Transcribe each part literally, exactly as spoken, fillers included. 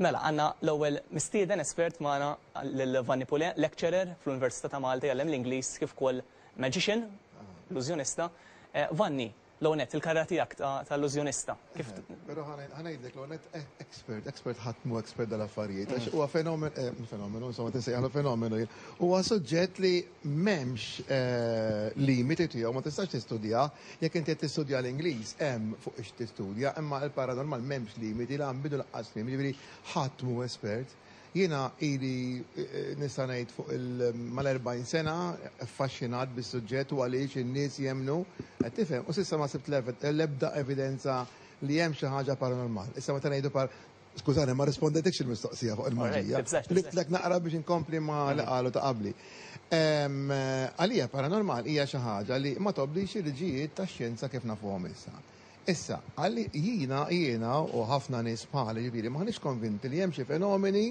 Mela, għandna l-ewwel mistieden espert magħna, lil Vanni Pule, lecturer fl-Università ta' Malta, jgħallem l-Ingliż kif ukoll magician, illużjonista. Eh, Vanni, l-ewwel nett, il-karriera tiegħek ta' illużjonista. Kif Però ħa ngħidlek l net, expert, expert ħadd mhu expert dal-affarijiet, għax huwa fenomen, eh, fenomenu, insomma tinsejjaħlu fenomenu, huwa suġġett li m'hemmx eh, limiti tiegħu, ma tistax tistudja. Jekk inti qed tistudja l-Ingliż, hemm fuq ix tistudja, imma il-paranormal m'hemmx limiti, la bidu lanqas tmiem, jiġifieri ħadd mhu espert. Jiena ili eh, nista' ngħid fuq il mal-erbgħin sena affaxxinat bis-suġġett u għaliex in-nies jemnu, qed tifhem, u s'issa ma sibt l-ebda evidenza li hemm xi ħaġa paranormal. Issa meta ngħidu par Skużani, ma rispondejtekx il-mistoqsija fuq il-maġija. Litlek naqra biex inkompli ma li qalu ta' qabli. Għalija paranormal hija xi ħaġa li ma tobdix il-liġijiet tax-xjenza kif nafuhom issa. Issa, għalli jiena jiena u ħafna nies bħali, ġifieri, maħniex konvinti li hemm xi fenomeni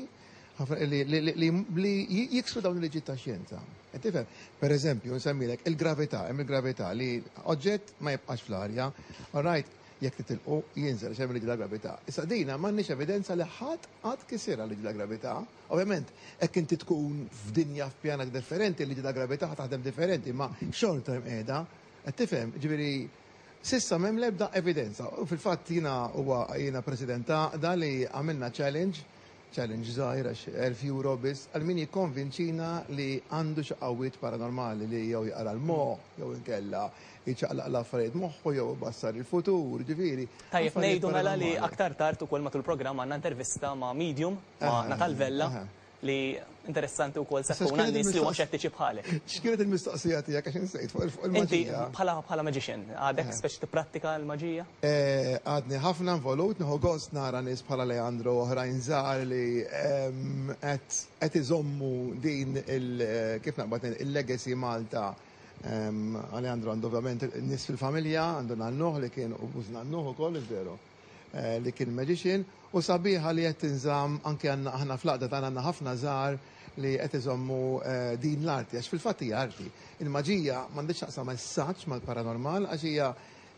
li jiksru dawn il-liġijiet ta' xjenza. Tifhem, per eżempju, nsemmilek il-gravità, hemm il-gravità li oġġett ma jibqax fl-arja, all right, jekk titilqu jinżel x'hemm liġi gravità. Issa dina m'għandniex evidenza li ħadd qatt kisirha liġi ta' gravità. Ovvjament, hekk inti tkun f'dinja, f'pjana differenti, liġi ta' gravità taħdem differenti, ma xorta hemm qiegħda. Qed tifhem, ġifieri s'issa m'hemm l-ebda evidenza. U fil-fatt jiena huwa jiena president ta' li għamilna challenge challenge żgħir, għax elf euro biss, għal min jikkonvinċina li għandu xi qawwiet paranormali, li jew jaqra l-moħħ, jew inkella jċaqlaq l-affarijiet moħħu, jew bassar il-futur, ġifieri. Tajjeb ngħidu mela li aktar tard ukoll matul il-programm għandna intervista ma' medium, ma' Natal Vella, li interessanti wkoll se tkun għan-nies li huma xettiċi bħalek. X'kienet il-mistoqsija tiegħek, għax insejt fuq il-maġija? Inti bħala bħala magician, għadek speċi tipprattika l-maġija? Eh, għadni ħafna involut, nieħu gost nara nies bħala Leandro, oħrajn żgħar li qed iżommu din il kif naqbad il-legacy Malta. Alejandro għandu ovvjament nies fil-familja, għandu nannuh li kien u bużnannuh ukoll, veru, eh, li kien magician, u sabiħa li qed tinżamm. Anke għandna aħna fl-għaqda tagħna għandna ħafna żgħar li qed iżommu eh, din l-arti, għax fil-fatt hija arti. Il-maġija m'għandix taqsam ma' mal-paranormal, għax hija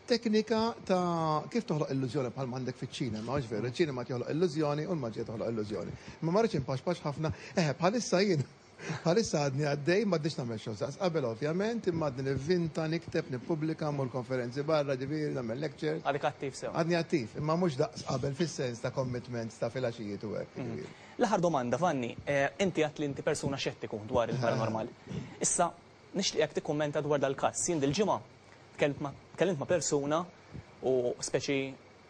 teknika ta' kif toħloq illużjoni, bħal m'għandek fiċ-ċinema, għax veru, iċ-ċinema toħloq illużjoni u l-maġija toħloq illużjoni. Ma ma rridx inpaxpax ħafna, eħe, bħalissa jien Bħalissa għadni għaddej, m'għadniex nagħmel xogħol daqs qabel ovvjament, imma għadni nivvinta, nikteb, nippubblika, mmur konferenzi barra, ġifieri nagħmel lectures. Għadek attiv sew. Għadni attiv, imma mhux daqs qabel fis-sens ta' commitments ta' filgħaxijiet u hekk, ġifieri. L-aħħar domanda, Vanni, eh, inti għedt li inti persuna xettiku dwar il-paranormal. Issa, nixtieqek tikkummenta dwar dal-każ. Jien dil-ġimgħa tkellimt ma' persuna u speċi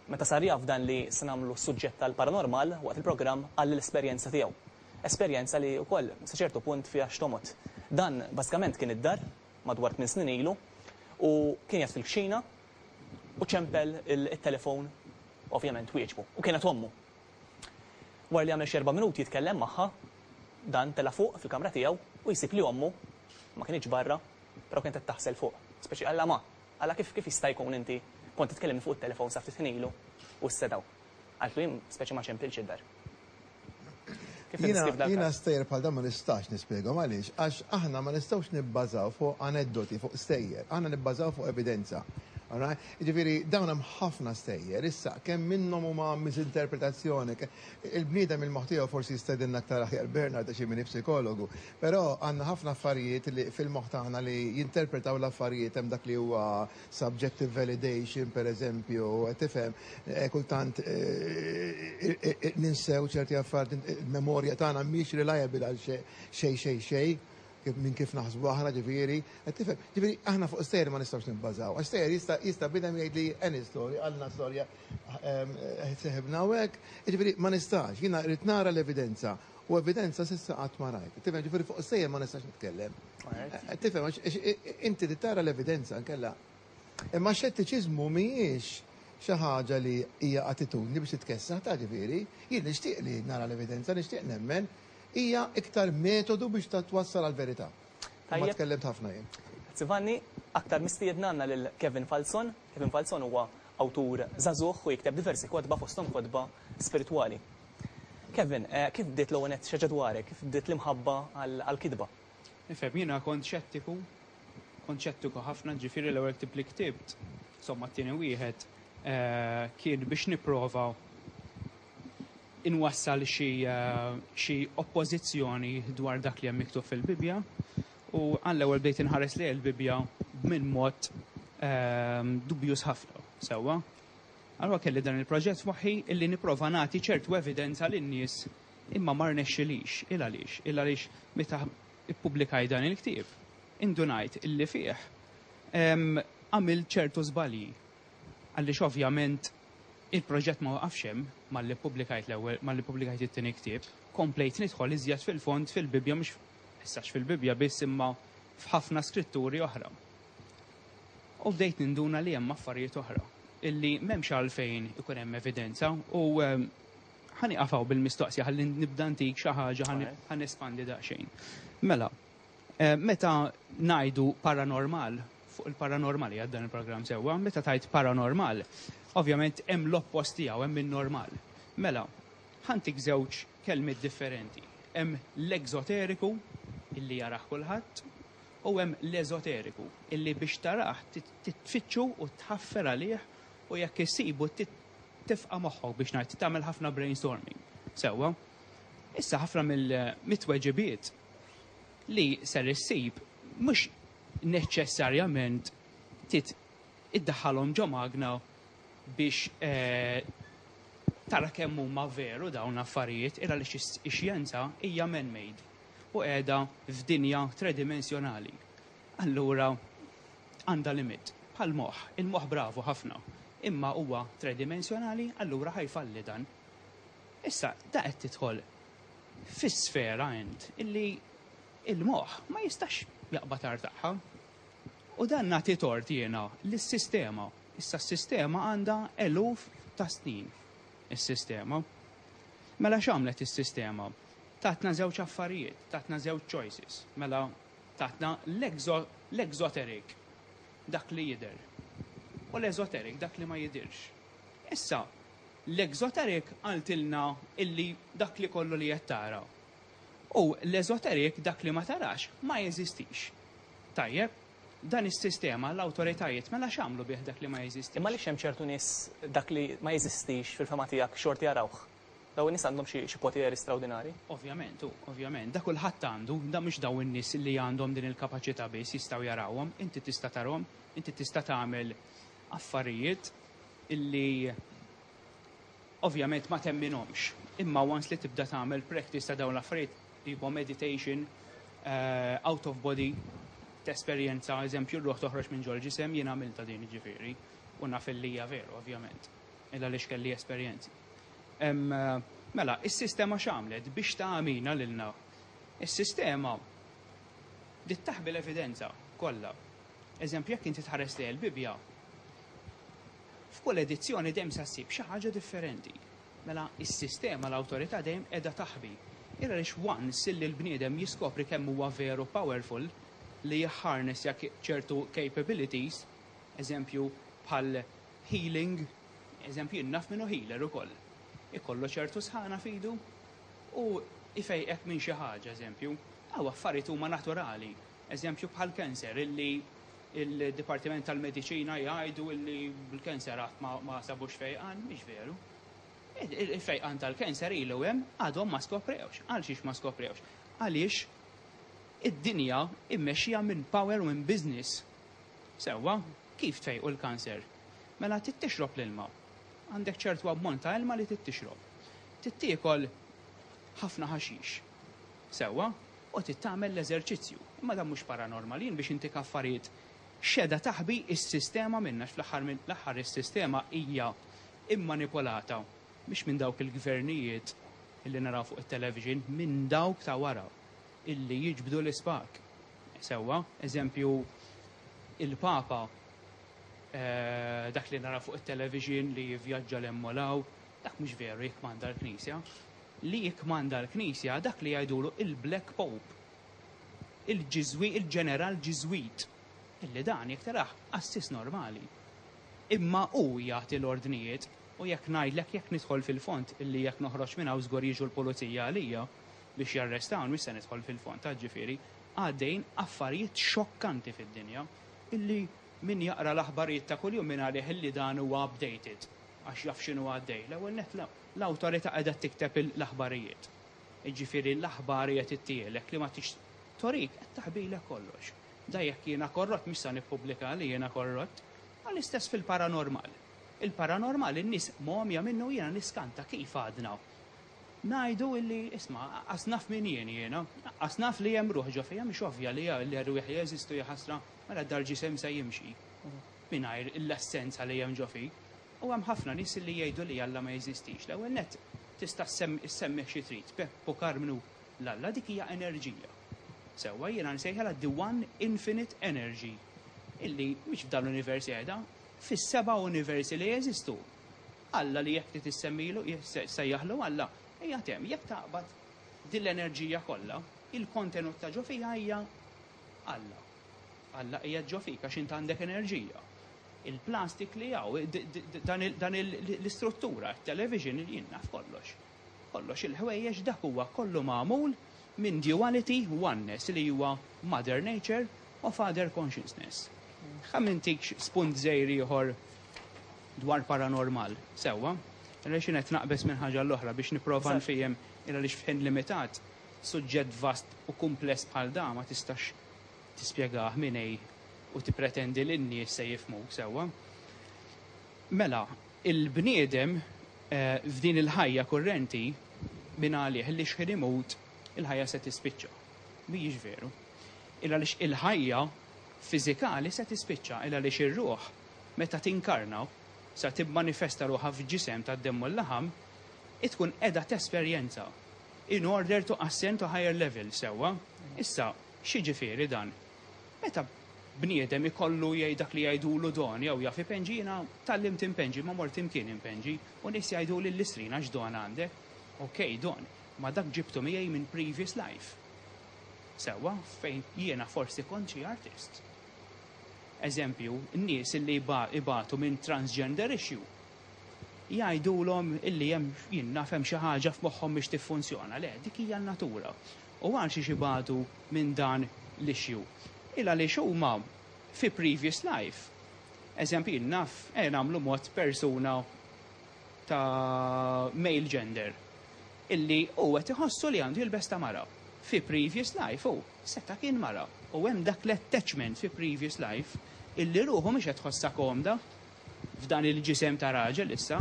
meta sar jaf dan li se nagħmlu suġġett tal-paranormal waqt il-programm, għall l-esperjenza tiegħu. Esperjenza li wkoll sa ċertu punt fiha xtomot. Dan bażikament kien id-dar madwar tmien snin ilu u kien jgħid fil-kċina u ċempel il-telefon, ovvjament wieġbu. U kienet ommu. Wara li għamel xi erba' minuti jitkellem magħha, dan tela fuq fil-kamra tiegħu u jsib li ommu ma kienx barra, però kienet qed taħsel fuq. Speċi qalla ma, qalla kif kif jista' jkun inti kont titkellem fuq it-telefon sa ftit ħin ilu u s-sedaw. Qaltlu jien speċi ma ċempilx id-dar. Kif Jiena tiddeskrivi jiena dal-każ? stejjer bħal dan ma nistax nispjegahom. Għaliex? Għax aħna ma nistgħux nibbażaw fuq aneddoti, fuq stejjer, aħna nibbażaw fuq evidenza. Alright? Ġifieri dawn hemm ħafna stejjer, issa kemm minnhom huma misinterpretazzjoni, ke- il-bniedem il-moħħ tiegħu, forsi jistedinna aktar aħjar Bernard għax min psikologu, però għandna ħafna affarijiet li fil-moħħ tagħna li jinterpretaw l-affarijiet, hemm dak li huwa subjective validation, per eżempju, qed tifhem, eh, kultant eh, eh, eh, ninsew ċerti affarijiet, il-memorja tagħna mhix reliable għal xejn xejn xejn xejn kif minn kif naħsbu aħna, ġifieri, qed tifhem, ġifieri aħna fuq stejjer ma nistgħux nibbażaw. Għax stejjer jista' jista' bniedem jgħid li any story, għalna storja seħibna u hekk, ġifieri ma nistax, jiena rrid nara l-evidenza u evidenza s'issa qatt ma rajt. Tifhem, ġifieri fuq stejjer ma nistax nitkellem. Alright. Tifhem, għax għax inti trid tara l-evidenza nkella. Imma xettiċiżmu mhijiex xi ħaġa li hija attitudni biex titkessaħ ta' ġifieri, jien nixtieq li nara l-evidenza, nixtieq nemmen, hija iktar metodu biex ta' twassal għal-verità. Ma Tajjeb. tkellimt ħafna jien. Grazzi, Vanni, aktar mistiedna għandna lil Kevin Falzon. Kevin Falzon huwa awtur żagħżugħ u jikteb diversi kotba, fosthom kotba spiritwali. Kevin, eh, kif bdiet l-ewwel nett xi ħaġa dwarek, kif bdiet l-imħabba għal-kitba? Nifhem, jiena kont xettiku, kont xettiku ħafna, ġifieri l-ewwel ktib li ktibt, insomma t-tieni wieħed, eh, kien biex nipprova inwassal xi eh, xi oppożizzjoni dwar dak li hemm miktub fil-Bibja u għall-ewwel bdejt inħares li l-Bibja minn mod ehm, dubjus ħafna, sewwa. Allura kelli dan il-proġett f'moħħi illi nipprova nagħti ċertu evidenza lin-nies, imma ma rnexxilix. Il għaliex? Il għaliex meta ippubblikaj dan il-ktieb, indunajt illi fih em, għamil ċertu żbalji. Għaliex ovvjament il-proġett ma waqafx hemm malli ppubblikajt l-ewwel, malli ppubblikajt it-tieni ktieb, komplejt nidħol iżjed fil-fond fil-Bibja, mhux issa fil-Bibja biss imma f'ħafna skritturi oħra. U bdejt ninduna li hemm affarijiet oħra illi m'hemmx għalfejn ikun hemm evidenza u em, ħa nieqaf bil-mistoqsija ħalli nibda ntik xi ħaġa, Alright. ħa nespandi daqsxejn. Mela, eh, meta ngħidu paranormal, fuq il-paranormali għad dan il-programm, sewwa, meta tgħid paranormal, ovvjament hemm l-oppost tiegħu, hemm in-normal. Mela, ħa ntik żewġ kelmiet differenti. Hemm l-exoteriku illi jarah kulħadd u hemm l-eżoteriku illi biex tarah titfittxu u tħaffer għalih u jekk issibu tifqa' moħħok, biex ngħid tagħmel ħafna brainstorming. Sewwa. Issa ħafna mill-mitweġibiet li ser issib mhux neċessarjament tit iddaħħalhom ġo magna biex eh, tara kemm huma veru dawn affarijiet, ira li x-xjenza hija man-made u qiegħda f'dinja tridimensjonali. Allura għandha limit. Bħal moħħ, il-moħħ bravu ħafna, imma huwa tridimensjonali, allura ħa jfalli dan. Issa, da qed tidħol fis-sfera int illi il-moħħ ma jistax jaqbad art tagħha. U dan nagħti tort jiena lis-sistema. Issa s-sistema għandha eluf ta' snin. Is-sistema. Mela x'għamlet is-sistema? Tatna żewġ affarijiet, tatna żewġ choices. Mela tatna l-exoteric, dak li jidher, u l-esoteric, dak li ma jidirx. Issa, l-exoteric qaltilna illi dak li kollu li qed tara. U l-esoteric, dak li ma tarax, ma jeżistix. Tajjeb, dan is-sistema, l-awtoritajiet, mela x'għamlu bih dak li ma jeżistix? Imma li hemm ċertu nies dak li ma jeżistix fil-fehma tiegħek xorti jarawh. Daw in-nies għandhom xi xi poteri straordinari. Ovvjament, u, ovvjament, da kulħadd għandu, da mhux daw in-nies li għandhom din il-kapaċità biss jistgħu jarawhom, inti tista' tarahom, inti tista' tagħmel affarijiet illi ovvjament ma temminhomx. Imma once li tibda tagħmel practice ta' dawn l-affarijiet, tipo meditation, uh, out of body, tesperjenza, eżempju, r-ruħ toħroġ minn ġol ġisem, jien għamilta din ġifieri, u naf li hija veru, ovvjament, illa li kelli esperjenzi. Em, Mela, is-sistema x'għamlet biex tagħmina lilna? Is-sistema bdiet taħbi l-evidenza kollha. Eżempju, jekk inti tħares li l-Bibja, f'kull edizzjoni dejjem sa ssib xi ħaġa differenti. Mela, is-sistema, l-awtorità dejjem qiegħda taħbi. Ira lix once illi l-bniedem jiskopri kemm huwa veru powerful li jħarnes jak ċertu capabilities, eżempju bħal healing, eżempju jien naf minnu healer ukoll. Ikollu ċertu sħana f'idu u ifejqek minn xi ħaġa, eżempju. Aw affarijiet huma naturali. Eżempju bħal cancer illi il-Dipartiment tal-Mediċina jgħidu illi l-cancer qatt ma, ma sabux fejqan, mhix veru. Il-fejqan tal-cancer ilu hemm, għadhom ma skoprewx. Għal xiex ma skoprewx? Għaliex id-dinja immexxija minn power u minn business. Sewwa, kif tfejqu l-kanser? Mela trid tixrob l-ilma. Għandek ċertu ammont ta' ilma li trid tixrob. Trid tiekol ħafna ħaxix. Sewwa, u trid tagħmel l-eżerċizzju. Imma dan mhux paranormal, jien biex intik affarijiet x'qiegħda taħbi is-sistema minna, fl-aħħar minn l-aħħar is-sistema hija immanipolata mhix minn dawk il-gvernijiet illi naraw fuq it-television, minn dawk ta' wara illi jiġbdu l-ispak. Sewwa, eżempju, il-Papa, eh, dak li nara fuq it-television li jivvjaġġa l-emmolaw, dak mhux veru jikmanda l-Knisja. Li jikmanda l-Knisja dak li jgħidulu il-Black Pope, il-Ġiżwi, il-ġeneral Ġiżwit, illi dan jekk tarah qassis normali. Imma hu jagħti l-ordnijiet u jekk ngħidlek, jekk nidħol fil-fond, illi jekk noħroġ minn hawn żgur jiġu l-pulizija għalija biex jarrestawn, mhux se nidħol fil-fond, ta' ġifieri għaddejn affarijiet xokkanti fid-dinja illi min jaqra l-aħbarijiet ta' kuljum minn għalih illi dan huwa updated. għax jaf x'inhu għaddej. L-ewwel nett, l-awtorità qiegħda tikteb l-aħbarijiet. Jiġifieri l-aħbarijiet ittielek li ma tix torik qed taħbilek kollox. Da jekk jiena korrott, mhux sa nippubblika li jiena korrott. Għall-istess fil-paranormal. Il-paranormal in-nies momja minnu, jiena niskanta kif għadna ngħidu illi isma', qas naf min jien jiena, qas naf li hemm ruħ ġo fija. Mhix ovvja li li rwieħ jeżistu, jaħasra, mela dal-ġisem se jimxi mingħajr l-essenza li hemm ġo fik? U hemm ħafna nies li jgħidu li Alla ma jeżistix. L-ewwel nett, tista' ssemmih xi trid, Peppu, Karmnu, l-Alla dik hija enerġija. Sewwa, jiena nsejħilha the one infinite energy illi mhix f'dan l-univers qiegħda, fis-seba' universi li jeżistu. Alla li jekk trid issemmilu, sejjaħlu Alla, hija hemm. Jekk taqbad din l-enerġija kollha, il-kontenut ta' ġo fija hija Alla. Alla hija ġo fik għax int għandek enerġija. Il-plastik li hawn, dan l-istruttura, il-television, jien naf kollox. Kollox il-ħwejjeġ, dak huwa kollu magħmul minn duality, oneness, li huwa Mother Nature u Father Consciousness. Ħa ntik spunt żgħir ieħor dwar paranormal, sewwa? Għaliex qed naqbeż minn ħaġa l-oħra biex nipprova nfiehem, għaliex f'ħin limitat, suġġett vast u kumpless bħal da ma tistax tispjegah minn A u tippretendi li n-nies se jifhmu sewwa. Mela, il-bniedem eh, f'din il-ħajja kurrenti minn għalih li xħin imut il-ħajja se tispiċċa. Mhijiex veru. Illa għaliex il-ħajja fiżikali se tispiċċa, illa għaliex ir-ruħ meta tinkarna sa tibmanifesta ruħha f'ġisem ta' demm u l-laħam, tkun qiegħda tesperjenza in order to ascend to higher level, sewwa. Issa, x'jiġifieri dan? Meta bniedem ikollu jgħid dak li jgħidulu don jew jaf ipenġi, jiena tgħallimt inpenġi, ma mort imkien inpenġi, u nies jgħidu li l-istrina x'don għandek. Ok, don, ma dak ġibtu miegħi minn previous life. Sewwa, fejn jiena forsi kont xi artist. Eżempju, n-nies illi ibatu minn transgender issue jgħidulhom illi hemm, jien naf, hemm xi ħaġa f'moħħhom biex tiffunzjona. Le, dik hija n-natura. U għal xi ibatu minn dan l-issue? Illa li huma fi previous life. Eżempju, jien naf, e nagħmlu mod persuna ta' male gender illi u qed iħossu li għandu jilbes ta' mara. Fi previous life u seta' kien mara. U hemm dak l-attachment fi previous life illi ruħu mhix qed tħossha komda f'dan il-ġisem ta' raġel issa.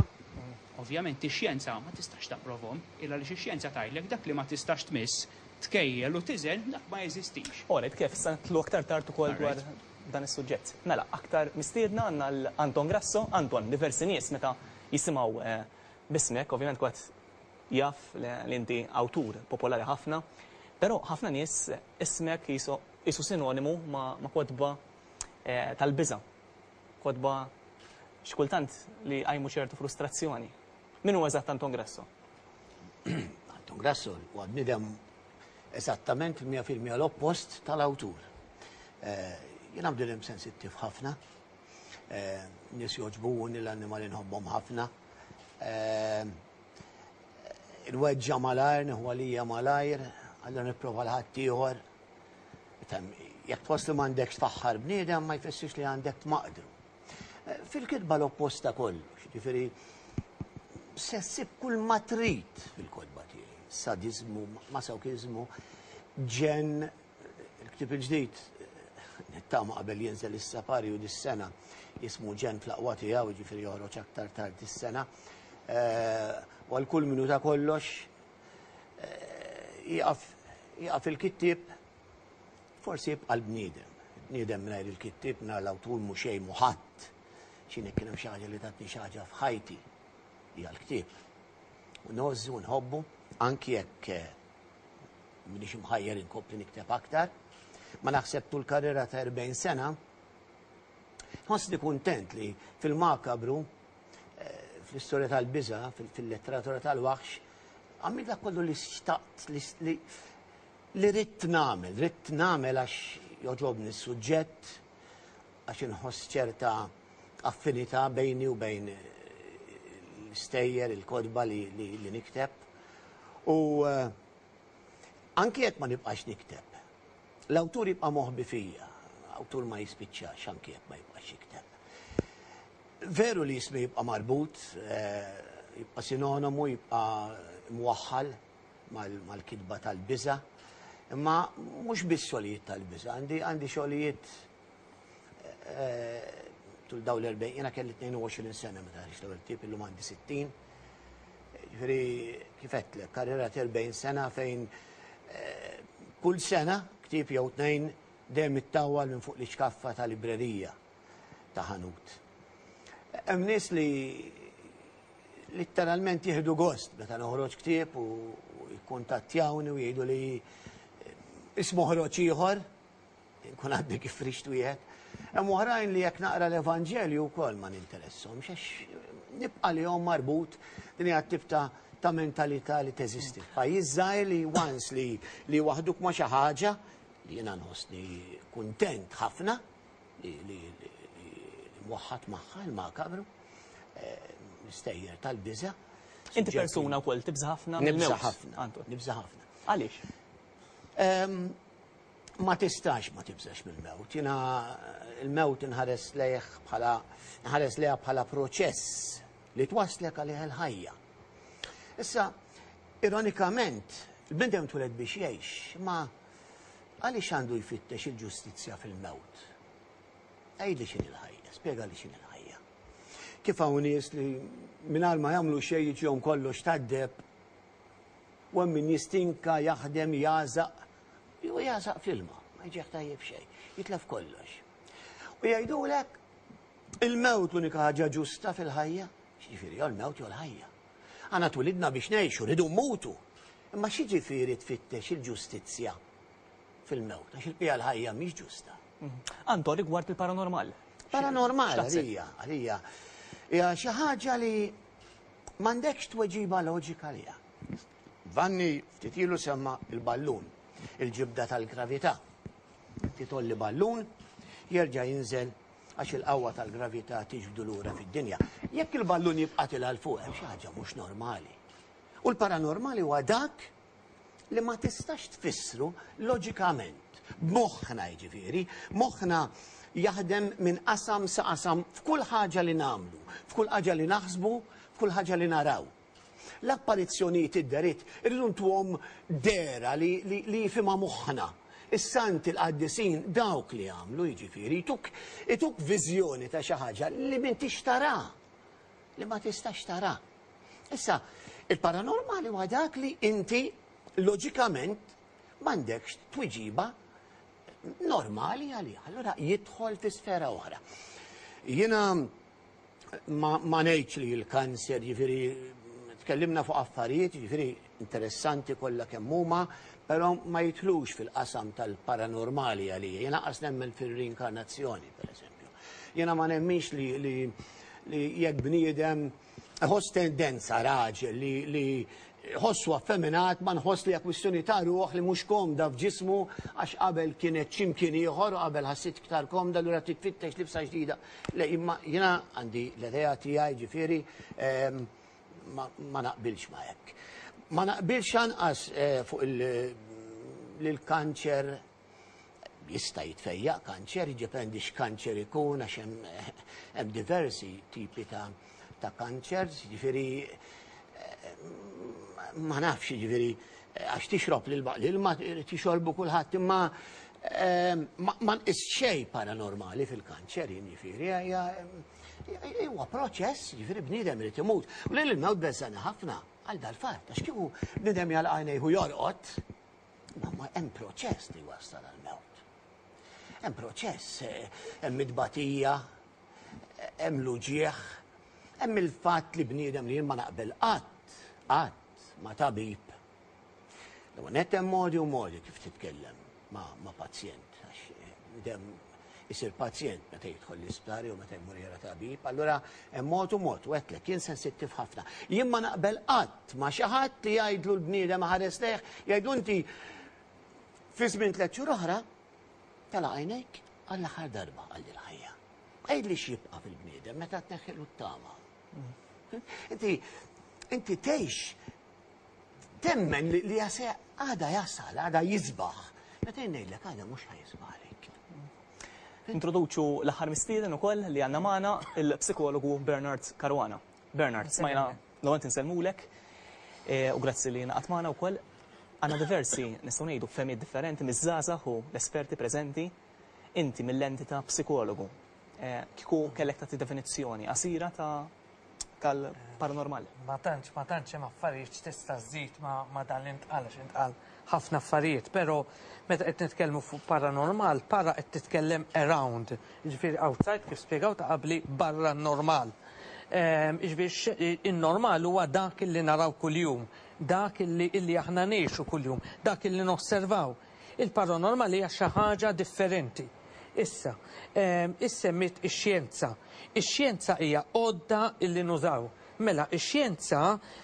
Ovvjament ix-xjenza ma tistax tapprovhom, illa li x-xjenza tgħidlek dak li ma tistax tmiss, tkejjel u tiżel, dak ma jeżistix. Alright, kif issa nitlu aktar tard ukoll dwar dan is-suġġett. Mela, aktar mistiedna għandna l-Anton Grasso. Anton, diversi nies meta jisimgħu eh, bismek, ovvjament kwat jaf li inti awtur popolari ħafna, però ħafna nies ismek jisu sinonimu ma' kotba eh, tal-biża', kotba xkultant li għajmu ċertu frustrazzjoni. Min hu eżatt Anton Grasso? Anton Grasso huwa bniedem eżattament mija fil-mija l-oppost tal-awtur. Eh, Jiena bniedem sensittiv ħafna, eh, nies jogħġbuni, l-annimali nħobbhom ħafna. Eh, Inweġġa' malajr, nieħu għalija malajr, allura nipprova l-ħaddieħor. Jekk tħoss li m'għandekx tfaħħar bniedem, ma jfissirx li għandek tmaqdru. Fil-kitba l-opposta kollox, ġifieri se ssib kull ma trid fil-kotba tiegħi. Sadizmu, masokizmu, ġen, il-ktib il-ġdid, nittama qabel jinżel is-safari u dis-sena, jismu Ġenn fl-Aqwa Tiegħu, ġifieri joħroġ aktar tard is-sena. U għal kull minuta kollox, jieqaf il-kittib, forsi jibqa' l-bniedem. Bniedem mingħajr il-kittib, mingħajr l-awtur, mhu xejn, mhu ħadd. X'inhi, kien hemm xi ħaġa li tatni xi ħaġa f'ħajti, hija l-ktieb. U ngħożżu u nħobbu, anki jekk minix imħajjer inkompli nikteb aktar. Ma naħseb tul karriera ta' erbgħin sena, nħossni kuntent li fil-makabru, fl-istorja tal-biża, fil-letteratura tal-waħx, għamilt dak kollu li xtaqt, li li ridt nagħmel, ridt nagħmel għax jogħġobni s-suġġett, għax inħoss ċerta affinità bejni u bejn l-istejjer, il-kotba li, li, li nikteb. U uh, anki jekk ma nibqax nikteb, l-awtur jibqa' moħbi fija, awtur ma jispiċċax anki jekk ma jibqax jikteb. Veru li jismi jibqa' marbut, jibqa' sinonimu, jibqa' mwaħħal mal-kitba tal-biża', imma mhux biss xogħlijiet tal-biża', għandi xogħlijiet tul dawn l-erbgħin, jiena kelli tnejn u għoxrin sena meta ħriġt l-ewwel ktieb, illum għandi sittin. Ġifieri kif għedtlek, karriera ta' erbgħin sena fejn kull sena ktieb jew tnejn dejjem ittawwal minn fuq l-iċkaffa ta' librerija ta' ħanut. Hemm nies li litteralment jieħdu gost meta noħroġ ktieb u jikkuntattjawni u jgħidu li ismu ħroġ ieħor, nkun għadni kif frixt wieħed. Hemm oħrajn li jekk naqra l-Evanġelju wkoll ma ninteressahomx għax nibqa' lihom marbut din hija tip ta' ta' mentalità li teżisti. Pajjiż żgħir li once li li waħduk ma' xi ħaġa li jiena nħossni kuntent ħafna li li mwaħħad magħha il-makabru, l-istejjer tal-biża'. Inti persuna wkoll tibża' ħafna Nibża' mill-mewt, ħafna. Anton. Nibża' ħafna. Għaliex? Ma tistax ma tibżax mill-mewt. Jiena il-mewt inħares lejh bħala nħares lejha bħala proċess li twaslek għalih il-ħajja. Issa, ironikament, il-bniedem tweled biex jgħix, ma għaliex għandu jfittex il-ġustizzja fil-mewt? Għidli x'inhi l-ħajja, spjegali x'inhi l-ħajja. Kif hawn nies li mingħajr ma jagħmlu xejn jiġihom kollox tad-deheb, u hemm min jistinka, jaħdem, jagħżaq, jew jagħżaq fl-ilma, ma jiġih tajjeb xejn, jitlef kollox. U jgħidulek il-mewt l-unika ħaġa ġusta fil-ħajja, x'jiġifieri jew il-mewt jew l-ħajja. Aħna twilidna biex ngħixu, rridu mmutu. Imma x'jiġifieri tfittex il-ġustizzja fil-mewt, għax il-qija l-ħajja mhix ġusta. Anton, rigward il-paranormal. Paranormal, X'taħseb? għalija, għalija. Hija xi ħaġa li m'għandekx tweġiba loġika għaliha. Vanni ftit ilu semma il-ballun, il-ġibda tal-gravità. Titolli ballun, jerġa' jinżel għax il-qawwa tal-gravità tiġbdu lura fid-dinja. Jekk il-ballun jibqa' tilha 'l fuq, hemm xi ħaġa mhux normali. U l-paranormali huwa dak li ma tistax tfissru loġikament. B'moħħna jiġifieri, moħħna jaħdem minn qasam sa qasam f'kull ħaġa li nagħmlu, f'kull ħaġa li naħsbu, f'kull ħaġa li naraw. L-apparizzjonijiet id-deritt irridu ntuhom dera li, li, li jifhimha moħħna. Is-santi l-qaddisin dawk li għamlu jiġifieri ituk, ituk viżjoni ta' xi ħaġa li m'intix tara, li ma tistax tara. Issa, il-paranormali huwa dak li inti loġikament m'għandekx tweġiba normali għalih. Allura jidħol fi sfera oħra. Jiena ma, ma ngħidx li l-kanser, jiġifieri tkellimna fuq affarijiet, jiġifieri interessanti kollha kemm huma, però ma jitlux fil-qasam tal-paranormali għalija. Jiena qas nemmen fil-reinkarnazzjoni, per eżempju. Jiena ma nemminx li, li, li jekk bniedem ħoss tendenza raġel li, li ħossu affeminat, ma nħoss li kwistjoni ta' ruħ li mhux komda f'ġismu għax qabel kienet x'imkien ieħor u qabel ħassit iktar komda lura titfittex libsa ġdida. Le, imma jiena għandi l-idea tiegħi ġifieri ehm, ma, ma naqbilx ma hekk. Ma naqbilx anqas eh, fuq il-kanċer jista' jitfejjaq kanċer, jiddependi x'kanċer ikun għax hemm hemm diversi tipi ta' ta' kanċer, jiġifieri ma nafx jiġifieri għax tixrob l-ilma tixorbu kulħadd imma ma ma nqis xejn paranormali fil-kanċer jiġifieri hija huwa proċess jiġifieri bniedem irid imut. U lil il-mewt beżżani ħafna għal dal-fatt għax kieku bniedem jagħlaq għajnejh u jorqod, ma ma hemm proċess li wassal għall-mewt. Hemm proċess, hemm it-tbatija, hemm l-uġieħ, hemm il-fatt li bniedem li jien ma naqbel qatt, qatt ma tabib. L-ewwel nett hemm modi u modi kif titkellem ma, ma pazjent, għax bniedem isir pazjent meta jidħol l-isptar jew meta jmur jara tabib, allura hemm mod u mod, u għedtlek jien sensittiv ħafna. Jien ma naqbel qatt ma xi ħadd li jgħidlu l-bniedem ħares lejh, jgħidlu inti fi żmien tliet xhur oħra tala għajnejk għall-aħħar darba għal il-ħajja. Għidli x'jibqa' fil-bniedem meta tneħħilu t-tama. Inti inti tgħix temmen li, li jase għada jasal, għada jisbaħ. Meta jien ngħidlek għada mhux ħa jisbaħ għalik. Introduċu l-aħħar mistieden ukoll li għandna magħna, il-psikologu Bernard Caruana. Bernard, smajna l-għont insellmulek u grazzi li ngħaqadt magħna wkoll. Għandna diversi, nistgħu ngħidu, fehmiet differenti miż-żgħażagħ u l-esperti preżenti. Inti mill-lenti ta' psikologu, kieku kellek tagħti definizzjoni qasira ta' tal-paranormal. Ma tantx, ma tantx hemm affarijiet x'tista' żżid ma dan li ntqal, għax intqal ħafna affarijiet, però meta qed nitkellmu fuq paranormal, para qed titkellem around, jiġifieri outside, kif spjegaw ta' qabli, barra n-normal. Jiġifieri in-normal huwa dak li naraw kuljum, dak li illi aħna ngħixu kuljum, dak li nosservaw. Il-paranormal hija xi ħaġa differenti. Issa, issemmit ix-xjenza. Ix-xjenza hija għodda illi nużaw. Mela, ix-xjenza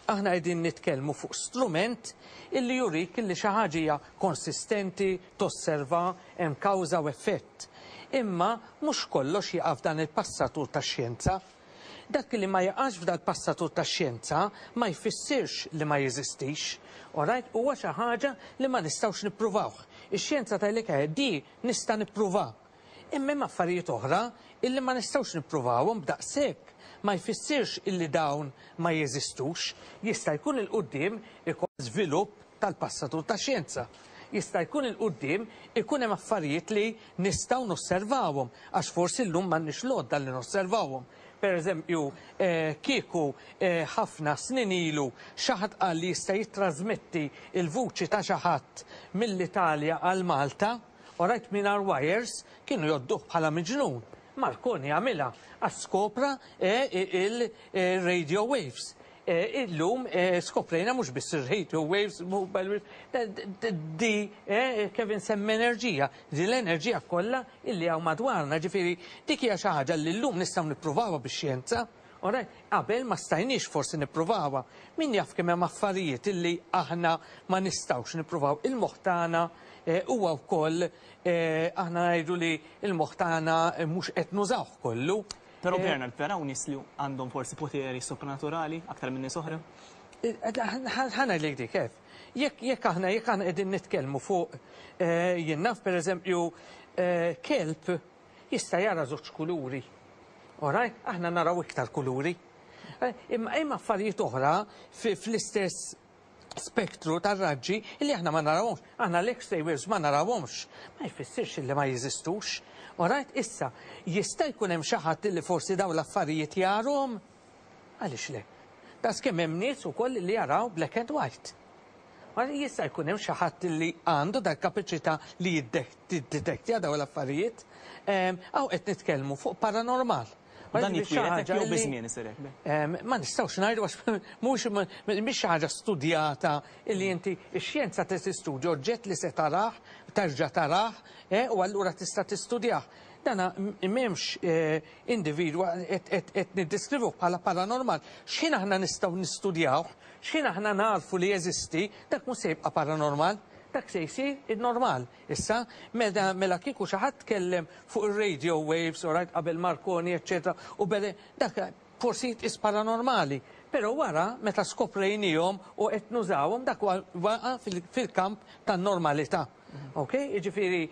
aħna qegħdin nitkellmu fuq strument illi jurik illi xi ħaġa hija konsistenti, tosserva, hemm kawża u effett. Imma mhux kollox jaqa' f'dan il-passatur tax-xjenza. Dak li ma jaqax f'dal passatur tax-xjenza ma jfissirx li ma jeżistix. Alright, huwa xi ħaġa li ma nistgħux nippruvawh. Ix-xjenza tgħidlek di nista' nippruva. Imma hemm affarijiet oħra illi ma nistgħux nippruvawhom b'daqshekk ma jfissirx illi dawn ma jeżistux. Jista' jkun il-quddiem ikun żvilupp tal-passatur tax-xjenza. Jista' jkun il-quddiem ikun hemm affarijiet li nistgħu nosservawhom għax forsi llum m'għandniex l-għodda li nosservawhom. Per eżempju, kieku ħafna snin ilu xi ħadd qal li jista' jittrażmetti il-vuċi ta' xi ħadd mill-Italja għal Malta, u rajt mingħajr wires, kienu jodduh bħala miġnun. Marconi għamilha għax skopra il-radio waves. Illum skoprejna mhux biss ir-radio waves, mobile waves, di Kevin semmi enerġija, di l-enerġija kollha illi hawn madwarna, ġifieri dik hija xi ħaġa li llum nistgħu nippruvawha bix-xjenza. Qabel ma stajniex forsi nippruvawha. Min jaf kemm hemm affarijiet illi aħna ma nistgħux nippruvaw. Il-moħħ tagħna huwa wkoll, aħna ngħidu li l-moħħ tagħna mhux qed nużawh kollu. Però Bernard, vera hawn nies li għandhom forsi poteri sopranaturali aktar minn nies oħra? Ħa ngħidlek dik kif. Jekk aħna jekk aħna qegħdin nitkellmu fuq jien naf pereżempju kelb jista' jara żewġ kuluri. Alright, aħna naraw iktar kuluri. Imma hemm affarijiet oħra fl-istess spektru tar-raġġi illi aħna ma narawhomx. Aħna l-X-ray waves ma narawhomx. Ma jfissirx illi ma jeżistux. Alright, issa, jista' jkun hemm xi ħadd illi forsi dawn l-affarijiet jarhom? Għaliex le? Das kemm hemm nies ukoll li jaraw black and white. Jista' jkun hemm xi ħadd li għandu dak kapaċità li jiddetektja dawn l-affarijiet. Hawn qed nitkellmu fuq paranormal. Dan jitwieled jew biż-żmien isir hekk? Ma nistgħux ngħidu għax mhux mhix xi ħaġa studjata illi inti x-xjenza tistudja oġġett li se tarah, terġa' tarah, u allura tista' tistudjah. Dana m'hemmx individwa qed niddeskrivuh bħala paranormal. X'ħin aħna nistgħu nistudjawh, x'ħin aħna narfu li jeżisti, dak mhux se jibqa' paranormal. Dak se jsir il-normal. Issa, mela kieku xi ħadd tkellem fuq ir-radio waves, u rajt qabel Marconi, eċċetera, u bede dak forsi jitqis paranormali. Però wara, meta skoprejnihom u qed nużawhom, dak waqa' fil-kamp tan-normalità. Ok? Jiġifieri,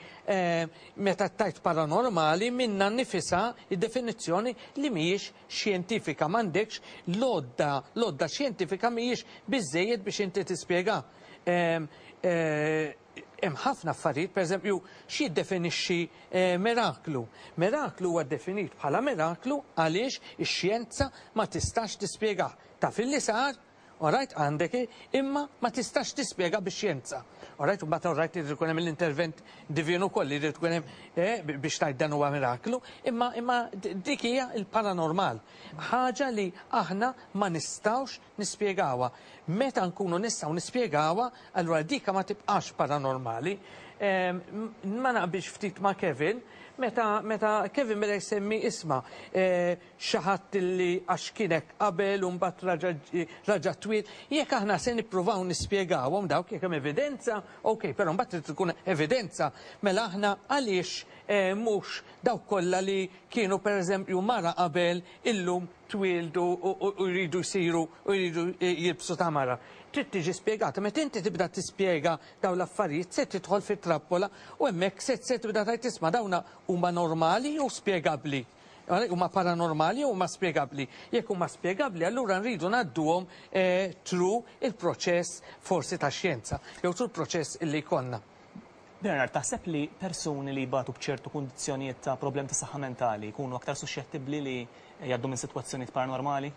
meta tajt paranormali, minna nifisha id-definizzjoni li mhijiex xjentifika, m'għandekx l-għodda, l-għodda xjentifika mhijiex biżżejjed biex inti tispjega. Hemm ħafna affarijiet, pereżempju, x'jiddefinixxi miraklu? Miraklu huwa definit bħala miraklu għaliex ix-xjenza ma tistax tispjegah. Taf illi sar, alright, għandek, imma ma tistax tispjega bix-xjenza. Alright, u mbagħad alright irid ikun hemm l-intervent divin ukoll irid ikun hemm biex tgħid dan huwa miraklu, imma imma dik hija l-paranormal. Ħaġa li aħna ma nistgħux nispjegawha. Meta nkunu nistgħu nispjegawha, allura dika ma tibqax paranormali. Ma naqbilx ftit ma' Kevin, meta meta Kevin beda jsemmi isma' xi ħadd illi għax kienek qabel u mbagħad raġa' twil, jekk aħna se nippruvaw nispjegawhom dawk jekk hemm evidenza, ok, però mbagħad trid tkun evidenza, mela aħna għaliex eh, mhux dawk kollha li kienu pereżempju mara qabel illum twildu u jridu jsiru u jridu jilbsu ta' mara. Trid tiġi spjegata, meta inti tibda tispjega dawn l-affarijiet se tidħol fit-trappola u hemmhekk se se tibda tgħid tisma' dawna huma normali u spjegabbli. Huma paranormali u huma spjegabbli. Jekk huma spjegabbli, allura nridu ngħadduhom eh, through il-proċess forsi ta' xjenza, jew through il-proċess illi jkollna. Bernard, taħseb li persuni li jbatu b'ċertu kundizzjonijiet ta' problem ta' saħħa mentali jkunu aktar suscettibbli li jgħaddu minn sitwazzjonijiet paranormali?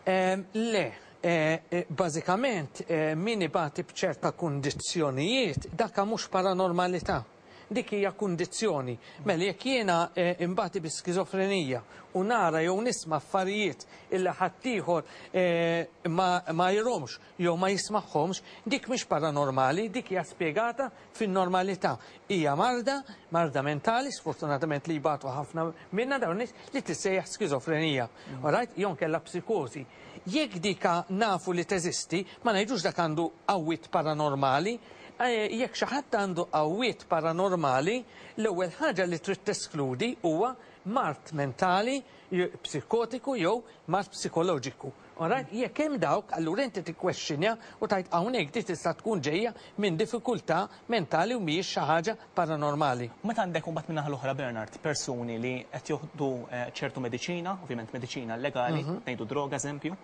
Em, Le, eh, eh, bażikament eh, min ibati b'ċerta kundizzjonijiet daka mhux paranormalità. Dik hija kundizzjoni. Mela jekk jiena eh, imbati bi skizofrenija u nara jew nisma' affarijiet illi ħaddieħor eh, ma, ma jiromx jew ma jismagħhomx, dik mhix paranormali, dik hija spjegata fin-normalità. Hija marda, marda mentali, sfortunatament li jbatu ħafna minna dawn nies li tissejjaħ skizofrenija. Alright, jew kellha psikosi. Jekk dika nafu li teżisti, ma ngħidux dak għandu qawwiet paranormali, eh, jekk xi ħadd għandu qawwiet paranormali, l-ewwel ħaġa li trid teskludi huwa mard mentali, je- psikotiku jew mard psikoloġiku. Alright, jekk hemm dawk, allura inti tikkwestjonja u tgħid hawnhekk di tista' tkun ġejja minn diffikultà mentali u mhijiex xi ħaġa paranormali. U meta għandek imbagħad minn naħa l-oħra Bernard, persuni li qed joħdu eh, ċertu mediċina, ovvjament mediċina legali, ngħidu droga eżempju,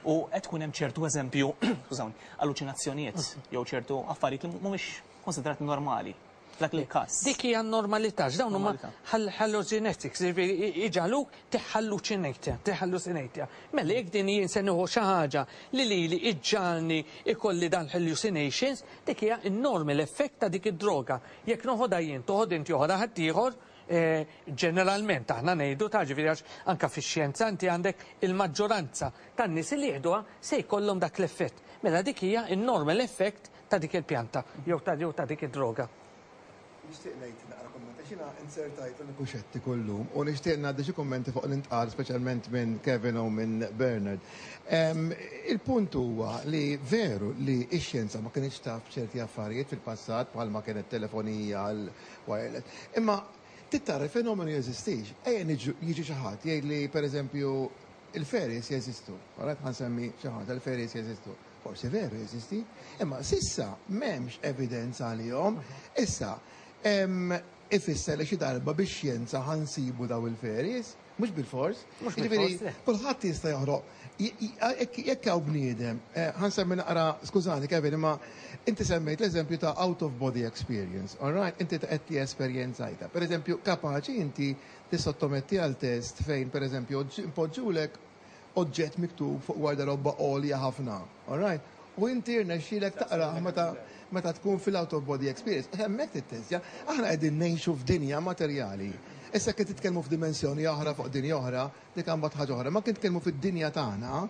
u qed tkun hemm ċertu eżempju, skużawni, alluċinazzjonijiet jew ċertu affarijiet li mhumiex konsiderati normali. Dak il-każ. Dik hija normalità, x'dawn huma Normalità. hallucinetics, jiġifieri iġagħluk tiħalluċinejtja, tiħallucinejtja. Mela jekk din jien se nieħu xi ħaġa li lili iġġalni ikolli dan hallucinations, dik hija n-normal effect ta' dik id-droga. Jekk noħodha jien, toħod inti joħodha ħaddieħor, eh, ġeneralment aħna ngħidu ta' ġifieri għax anka fix-xjenza inti għandek il-maġġoranza tan-nies li jieħduha se jkollhom dak l-effett. Mela dik hija n-normal effect ta' dik il-pjanta jew ta' jew ta' dik id-droga. Nixtieq ngħid naqra kommenta xina insertajt l-uniku xettiku llum u nixtieq ngħaddi xi kummenti fuq l-intqal speċjalment minn Kevin u minn Bernard. Em, Il-punt huwa li veru li x-xjenza ma kienx taf ċerti affarijiet fil-passat bħalma kienet telefonija l-wireless. Imma tittara il-fenomenu jeżistix. Ejja niġu- jiġi xi ħadd jgħid li pereżempju il-fairies jeżistu. Alright, ħa nsemmi xi ħaġa, il-fairies jeżistu. Forsi veru jeżisti, imma s'issa m'hemmx evidenza għalihom. Issa, em, ifisser li xi darba bix-xjenza ħa nsibu daw il-fairies, mhux bil-fors. Mhux Jiġifieri, bil-fors, le. Kulħadd jista' joħroq. J- j- Jekk jekk hawn bniedem, eh, ħa nsemmi naqra, skużani Kevin, imma inti semmejt l-eżempju ta' out of body experience, all right? Inti ta' qed ti esperjenzajta. Per eżempju, kapaċi inti tissottometti għal test fejn, per eżempju, impoġġulek oġġett miktub fuq gwardarobba għolja ħafna, all right? U inti rnexxielek taqra meta meta tkun fil-out of body experience. Hemmhekk tittestja, aħna qegħdin ngħixu f'dinja materjali. Issa kien titkellmu f'dimensjoni oħra fuq dinja oħra, dik imbagħad ħaġa oħra. Ma kien titkellmu fid-dinja tagħna,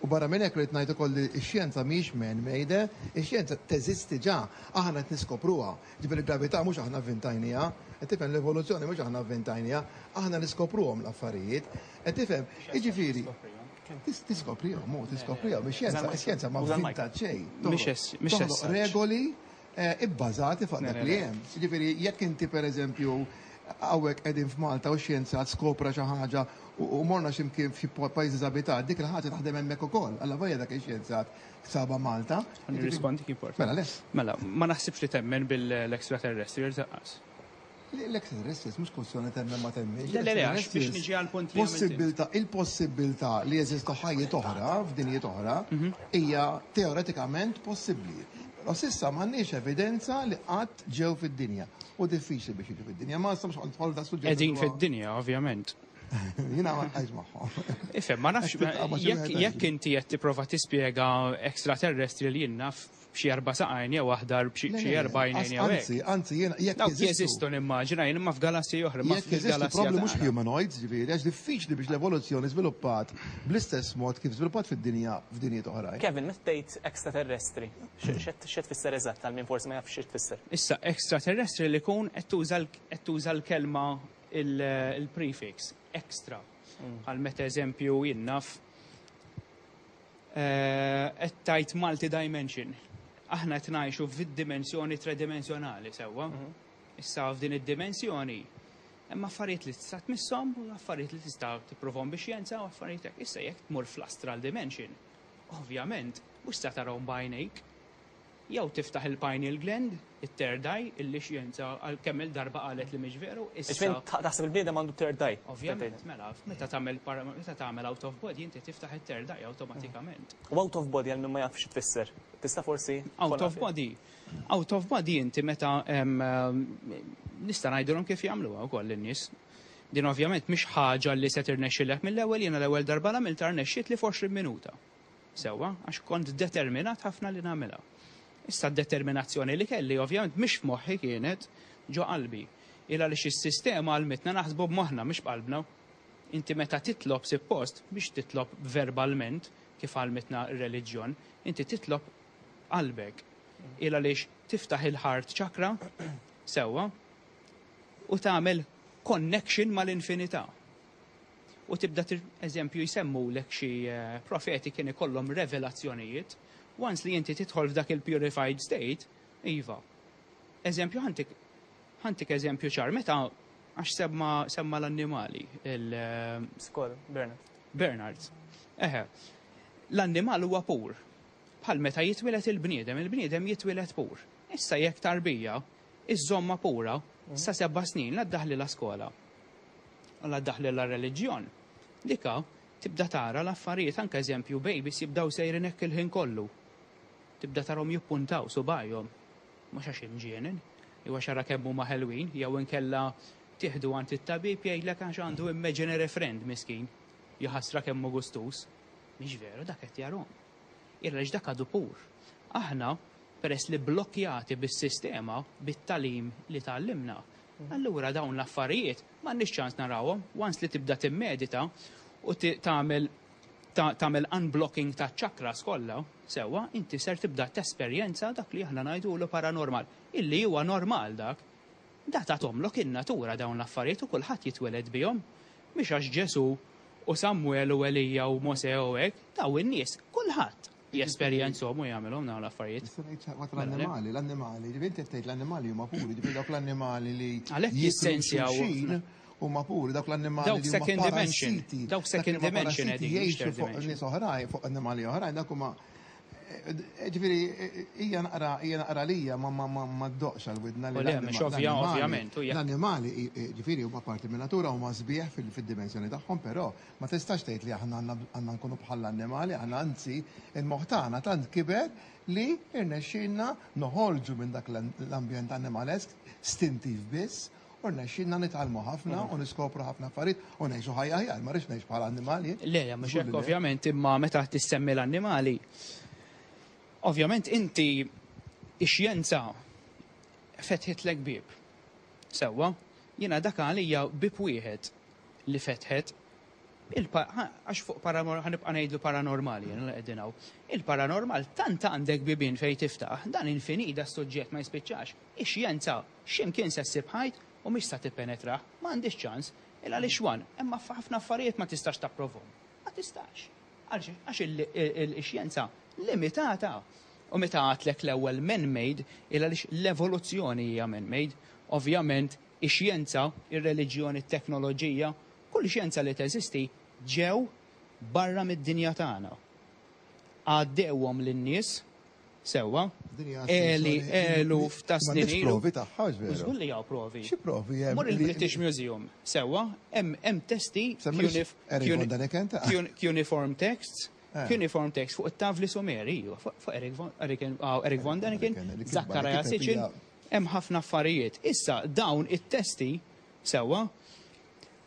u barra minn hekk rrid ngħid ukoll li x-xjenza mhix man-made, ix-xjenza teżisti ġa, aħna qed niskopruha. Ġifieri il-gravità mhux aħna vvintajniha, qed tifhem l-evoluzzjoni mhux aħna vvintajniha, aħna niskopruhom l-affarijiet. Qed tifhem, jiġifieri tis- tiskoprihom, mu tiskoprihom, ix-xjenza, ix-xjenza ma Uża l-mic. vvintat xejn. Mhix es- mhix Toħloq as such. regoli eh, ibbażati fuq dak li hemm. Jiġifieri jekk inti pereżempju hawnhekk qegħdin f'Malta u xjenzat skopra xi ħaġa u u morna x'imkien f'xi pajjiżi abitat, dik il-ħaġa taħdem hemmhekk ukoll. Alla vojja dak ix-xjenzat saba Malta. Nirrispondi kif important. Mela, le. Mela, ma naħsibx li temmen bil-extraterrestrials lanqas. L-extraterrestrials mhux kwestjoni temmen ma temmenx. Le, le, le, għax biex niġi għal punt li għamilt int. Possibilità, il-possibilità li jeżistu ħajjiet oħra f'dinjiet oħra hija teoretikament possibbli. Però s'issa m'għandniex evidenza li qatt ġew fid-dinja. U diffiċli biex jiġu fid-dinja. Ma nistgħux nidħol da suġġett. Qegħdin fid-dinja, ovvjament. Jiena ma nqajx magħhom. Ifhem, ma nafx, Qed tiltaqa' ma' xi jekk wieħed jekk inti qed tipprova tispjega extraterrestri li jien naf b'xi erba' saqajn jew aħdar b'xi Le, xi le, erba' għajnejn jew hekk. Anzi, anzi, jiena jekk Dawk jeżistu nimmaġina jien imma f'galassji oħra, ma Jekk jeżistu fil-galassja probably mhux tagħna. humanoids, ġifieri, għax diffiċli biex l-evoluzzjoni żviluppat bl-istess mod kif żviluppat fid-dinja f'dinjiet oħrajn. Kevin, meta tgħid extraterrestri, x'qed tfisser eżatt għal min forsi ma jafx x'qed tfisser? Issa extraterrestri li kun qed tuża l- qed tuża l-kelma il- il-prefix extra. Għal meta eżempju jien naf eh, qed tgħid multi-dimension. Aħna qed ngħixu fid-dimensjoni tridimensjonali sewwa. Issa f'din id-dimensjoni hemm affarijiet li tista' tmisshom u affarijiet li tista' tipprovhom bix-xjenza u affarijiet hekk. Issa jekk tmur fl-astral dimension, ovvjament mhux se tarahom b'għajnejk. Jew tiftaħ il-pineal gland, it-third eye, illi xjenza għal kemm il-darba qalet li mhix veru, issa Ġifieri taħseb il-bniedem għandu third eye. Ovvjament, mela, meta tagħmel para- meta tagħmel out of body inti tiftaħ it-third eye awtomatikament. U out of body għal min ma jafx tfisser. Tista' forsi Out of body. Out of body inti meta em, em, nista' ngħidulhom kif jagħmluha wkoll in-nies. Din ovvjament mhix ħaġa li se tirnexxilek mill-ewwel, jiena l-ewwel darba l-għamilta rnexxiet li f'għoxrin minuta. Sewwa, għax kont determinat ħafna li nagħmilha. Issa d-determinazzjoni li kelli ovvjament mhix f'moħħi, kienet ġo qalbi. Illa li is-sistema għallmitna naħsbu b'moħħna, mhix b'qalbna. Inti meta titlob suppost biex titlob verbalment kif għallmitna r-reliġjon, inti titlob qalbek. Illa għaliex tiftaħ il-heart chakra sewwa u tagħmel connection mal-infinità. U tibda tir- eżempju jsemmu lek xi eh, profeti kien ikollhom revelazzjonijiet. Once li inti tidħol f'dak il-purified state, iva. Eżempju ħa ntik ħa ntik eżempju ċar, meta għax semma semma l-annimali, il eh, Skol, Bernard. Bernard. Eħe, l-annimal huwa pur. Bħal meta jitwieled il-bniedem, il-bniedem jitwieled pur. Issa jekk tarbija, iżżomma pura, sa seba' snin la ddaħli la skola. U la ddaħli la reliġjon. Dika tibda tara l-affarijiet, anke eżempju babies jibdaw sejrin hekk il-ħin kollu. Tibda tarahom jippuntaw subajhom. Mhux għax imġienen, jew għax ara kemm huma ħelwin, jew inkella tieħdu għand it-tabib jgħidlek għax għandu imaginary friend miskin. Jaħasra kemm hu gustus. Mhix veru, dak qed jarahom. Illa dak għadu pur. Aħna, peress li blokkjati bis-sistema, bit-tagħlim li tgħallimna, allura dawn l-affarijiet m'għandniex ċans narawhom. Once li tibda timmedita u ti- tagħmel ta- tagħmel unblocking ta' chakras kollha, sewwa, inti ser tibda tesperjenza dak li aħna ngħidulu paranormal, illi huwa normal dak. Da tagħtomlok in-natura dawn l-affarijiet u kulħadd jitweled bihom. Mhix għax Ġesu u Samuel u Elija u Mose u hekk, daw in-nies kulħadd jesperjenzhom u jagħmelhom dawn l-affarijiet. Nista' ngħid waqt l-annimali, l-annimali, ġifieri inti tgħid l-annimali huma puri, ġifieri dawk l-annimali li Għalhekk jieklu jissensjaw xulxin huma puri, dawk l-annimali Dawk li huma second dimension, parassiti. dawk Dak li second huma dimension parassiti qegħdin, mhux jgħixu third fuq dimension. nies oħrajn, fuq annimali oħrajn, dak huma eh, ġifieri hija naqra hija naqra lija ma ma ma ma ddoqx għal-widna li U le, l-annima- mhux ovvja- l-annimali- ovvjament, u jekk- L-annimali ġifieri huma parti minn natura, huma sbieħ fil- fid-dimensjoni tagħhom, però ma tistax tgħid li aħna għandna għandna nkunu bħall-annimali, aħna anzi il-moħħ tagħna tant kiber li irnexxielna noħorġu minn dak l-ambjent animalesk stintiv biss u rnexxielna nitgħallmu ħafna u niskopru ħafna affarijiet u ngħixu ħajja aħjar, ma rridx ngħix bħala annimali. Le, le, mhux Żgur hekk li le. ovvjament, imma meta tissemmi l-annimali, ovvjament inti ix-xjenza fetħitlek bib. Sewwa, jiena dak għalija bib wieħed li fetħet il-pa- ħa- għax fuq paranor- ħa nibqa' ngħidlu paranormali jiena li qegħdin hawn. Il-paranormal tant għandek bibien fejn tiftaħ, dan infinit, da suġġett ma jispiċċax. Ix-xjenza x'imkien se ssib ħajt u mhix sa tippenetra, ma għandix ċans, il għaliex wan, imma ħafna affarijiet ma tistax tapprovhom. Ma tistax. Għaliex għax il- il- il-xjenza limitata. U meta għedtlek l-ewwel man-made, il għaliex l-evoluzzjoni hija man-made. Ovvjament, ix-xjenza, ir-reliġjoni, it-teknoloġija, kull xjenza li teżisti ġew barra mid-dinja tagħna. Għaddewhom lin-nies sewwa, Din hija eli assunzjoni- eluf ta' snin M'għandekx ilu. provi tagħha, hux veru? Żgur li hawn provi. Xi provi hemm? Mur li- il-British Museum, sewwa, hemm hemm testi Semmilx cunif- Eric cuni- von Däniken ta' cun- cuneiform texts, Eh. cuneiform text fuq it-tavli Sumeri, iva, fuq fuq Eric von Eric ah, Eric von Däniken, Däniken, li kitba- li Zachariah kiteb Sitchin, hija- hemm ħafna affarijiet. Issa dawn it-testi sewwa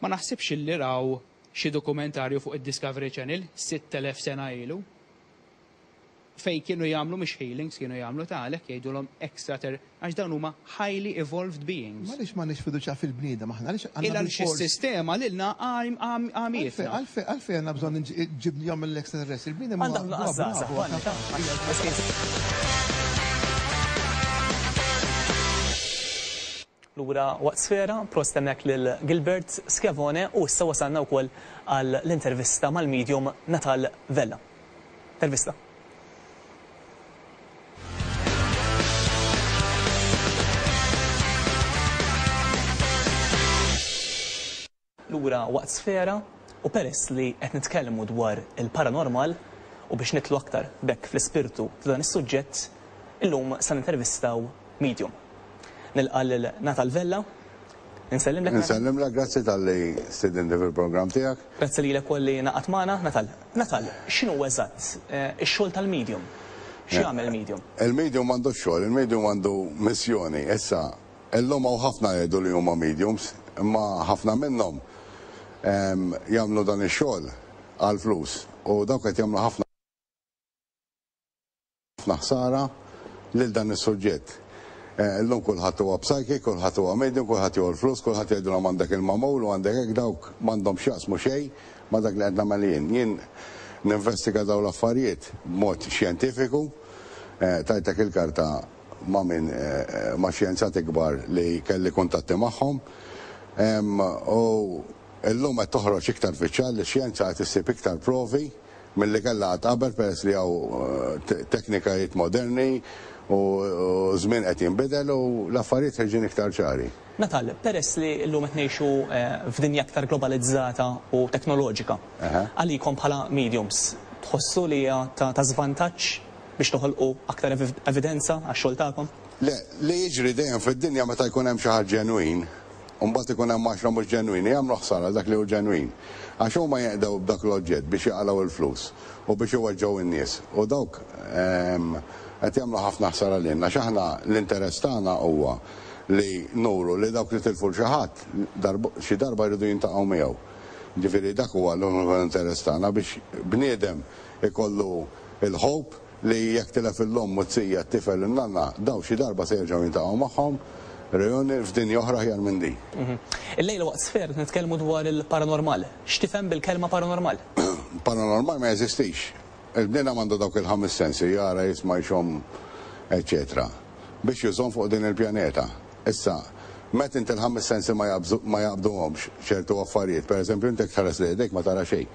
ma naħsibx li raw xi dokumentarju fuq id-Discovery Channel sitt elef sena ilu fej kienu jagħmlu mhux healings, kienu jagħmlu ta' għalhekk jgħidulhom extrater għax dawn huma highly evolved beings. Għaliex m'għandniex fiduċja fil-bniedem aħna, għaliex għandna Illa għaliex bil-fors- is-sistema lilna għamietna. Għalfejn għalfejn għandna bżonn ġibnihom mill-extraterrestri. Il-bniedem huwa- Għandha huwa nuqqas żgħażagħ, bravu, Vanni, ta' Lura waqt Sfera, prosit hemmhekk lil Gilbert Schiavone u issa wasalna wkoll għal l-intervista mal-medium Natal Vella. Intervista. Lura waqt Sfera u peress li qed nitkellmu dwar il-paranormal u biex nidħlu aktar b'hekk fl-ispirtu ta' dan is-suġġett, illum sa nintervistaw medium. Nilqa' lil Natal Vella. Insellimlek. Insellimlek, grazzi talli stedintni fil-programm tiegħek. Grazzi lilek ukoll li ngħaqadt magħna, Natal. Natal, x'inhu eżatt ix-xogħol tal-medium? X'jagħmel medium? Il-medium m'għandux xogħol, il-medium għandu missjoni. Issa, illum hawn ħafna jgħidu li huma mediums, imma ħafna minnhom jagħmlu dan ix-xogħol għal flus u dawk qed jagħmlu ħafna ħsara lil dan is-suġġett. Illum kulħadd huwa psychic, kulħadd huwa medium, kulħadd jieħu l-flus, kulħadd jgħidulhom għandek il-mamul u għandek hekk, dawk m'għandhom x'jaqsmu xejn ma' dak li qed nagħmel jien. Jien ninvestiga dawn l-affarijiet b'mod xjentifiku, tajtek il-karta ma' min ma' xjenzati kbar li kelli kuntatti magħhom. U illum qed toħroġ iktar fiċ-ċar li x-xjenza qed issib iktar provi milli kellha qatt qabel peress li hawn teknikajiet moderni u żmien qed jinbidel u l-affarijiet ħerġin iktar ċari. Natal, peress li llum qed ngħixu f'dinja aktar globalizzata u teknoloġika, għalikom bħala mediums tħossu li hija ta' żvantaġġ biex toħolqu aktar evidenza għax-xogħol tagħkom? Le, li jiġri dejjem fid-dinja meta jkun hemm xi ħadd ġenwin, u mbagħad ikun hemm għaxra mhux ġenwini, jagħmlu ħsara dak li hu ġenwin. Għax huma jeqdew b'dak l-oġġett biex jaqalgħu l-flus u biex iweġġgħu n-nies. U dawk qed jagħmlu ħafna ħsara lilna, għax aħna l-interess tagħna huwa li nuru li dawk li tilfu xi ħadd xi darba jridu jintaqgħu miegħu. Ġifieri dak huwa l-uniku interess tagħna biex bniedem ikollu il-ħob li jekk tilef il-lom u t-sija t-tifel in-nanna, daw xi darba se jerġgħu jintaqgħu magħhom reunion f'dinja oħra aħjar minn din. Illejla waqt Sfera nitkellmu dwar il-paranormal. X'tifhem bil-kelma paranormal? Paranormal ma jeżistix. Il-bniedem għandu dawk il-ħames sensi, jara, jisma', jxomm, eċċetera, biex jużhom fuq din il-pjaneta. Issa, meta inti l-ħames sensi ma jaqbduhomx ċertu affarijiet, pereżempju inti tħares li jdejk ma tara xejn.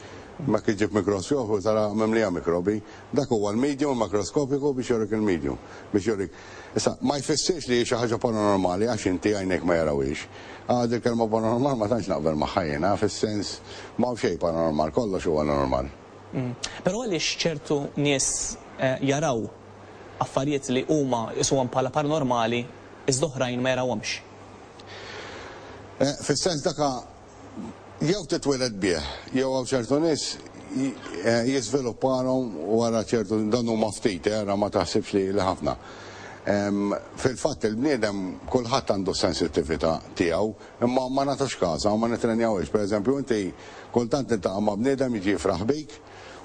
Ma kif ġib mikroskopju tara mimlija mikrobi, dak huwa l-medium makroskopiku biex jurik il-medium, biex jurik. Issa, ma jfissirx li xi ħaġa paranormali għax inti għajnejk ma jarawix. Għad il-kelma paranormal ma tantx naqbel magħha jiena, fis-sens ma hawn xejn paranormal, kollox huwa normal. Però għaliex ċertu nies jaraw affarijiet li huma jisuhom bħala paranormali iżda oħrajn ma jarawhomx? Fis-sens daka jew titwieled bih, jew hawn ċertu nies jiżvilupparhom wara ċertu, dan huma ftit, era ma taħsibx li ħafna. Fil-fatt il-bniedem kulħadd għandu sensittività tiegħu, imma ma nagħtux każa u ma nitrenjawhiex. Pereżempju inti kultant tiltaqa' ma' bniedem jiġi jifraħ bik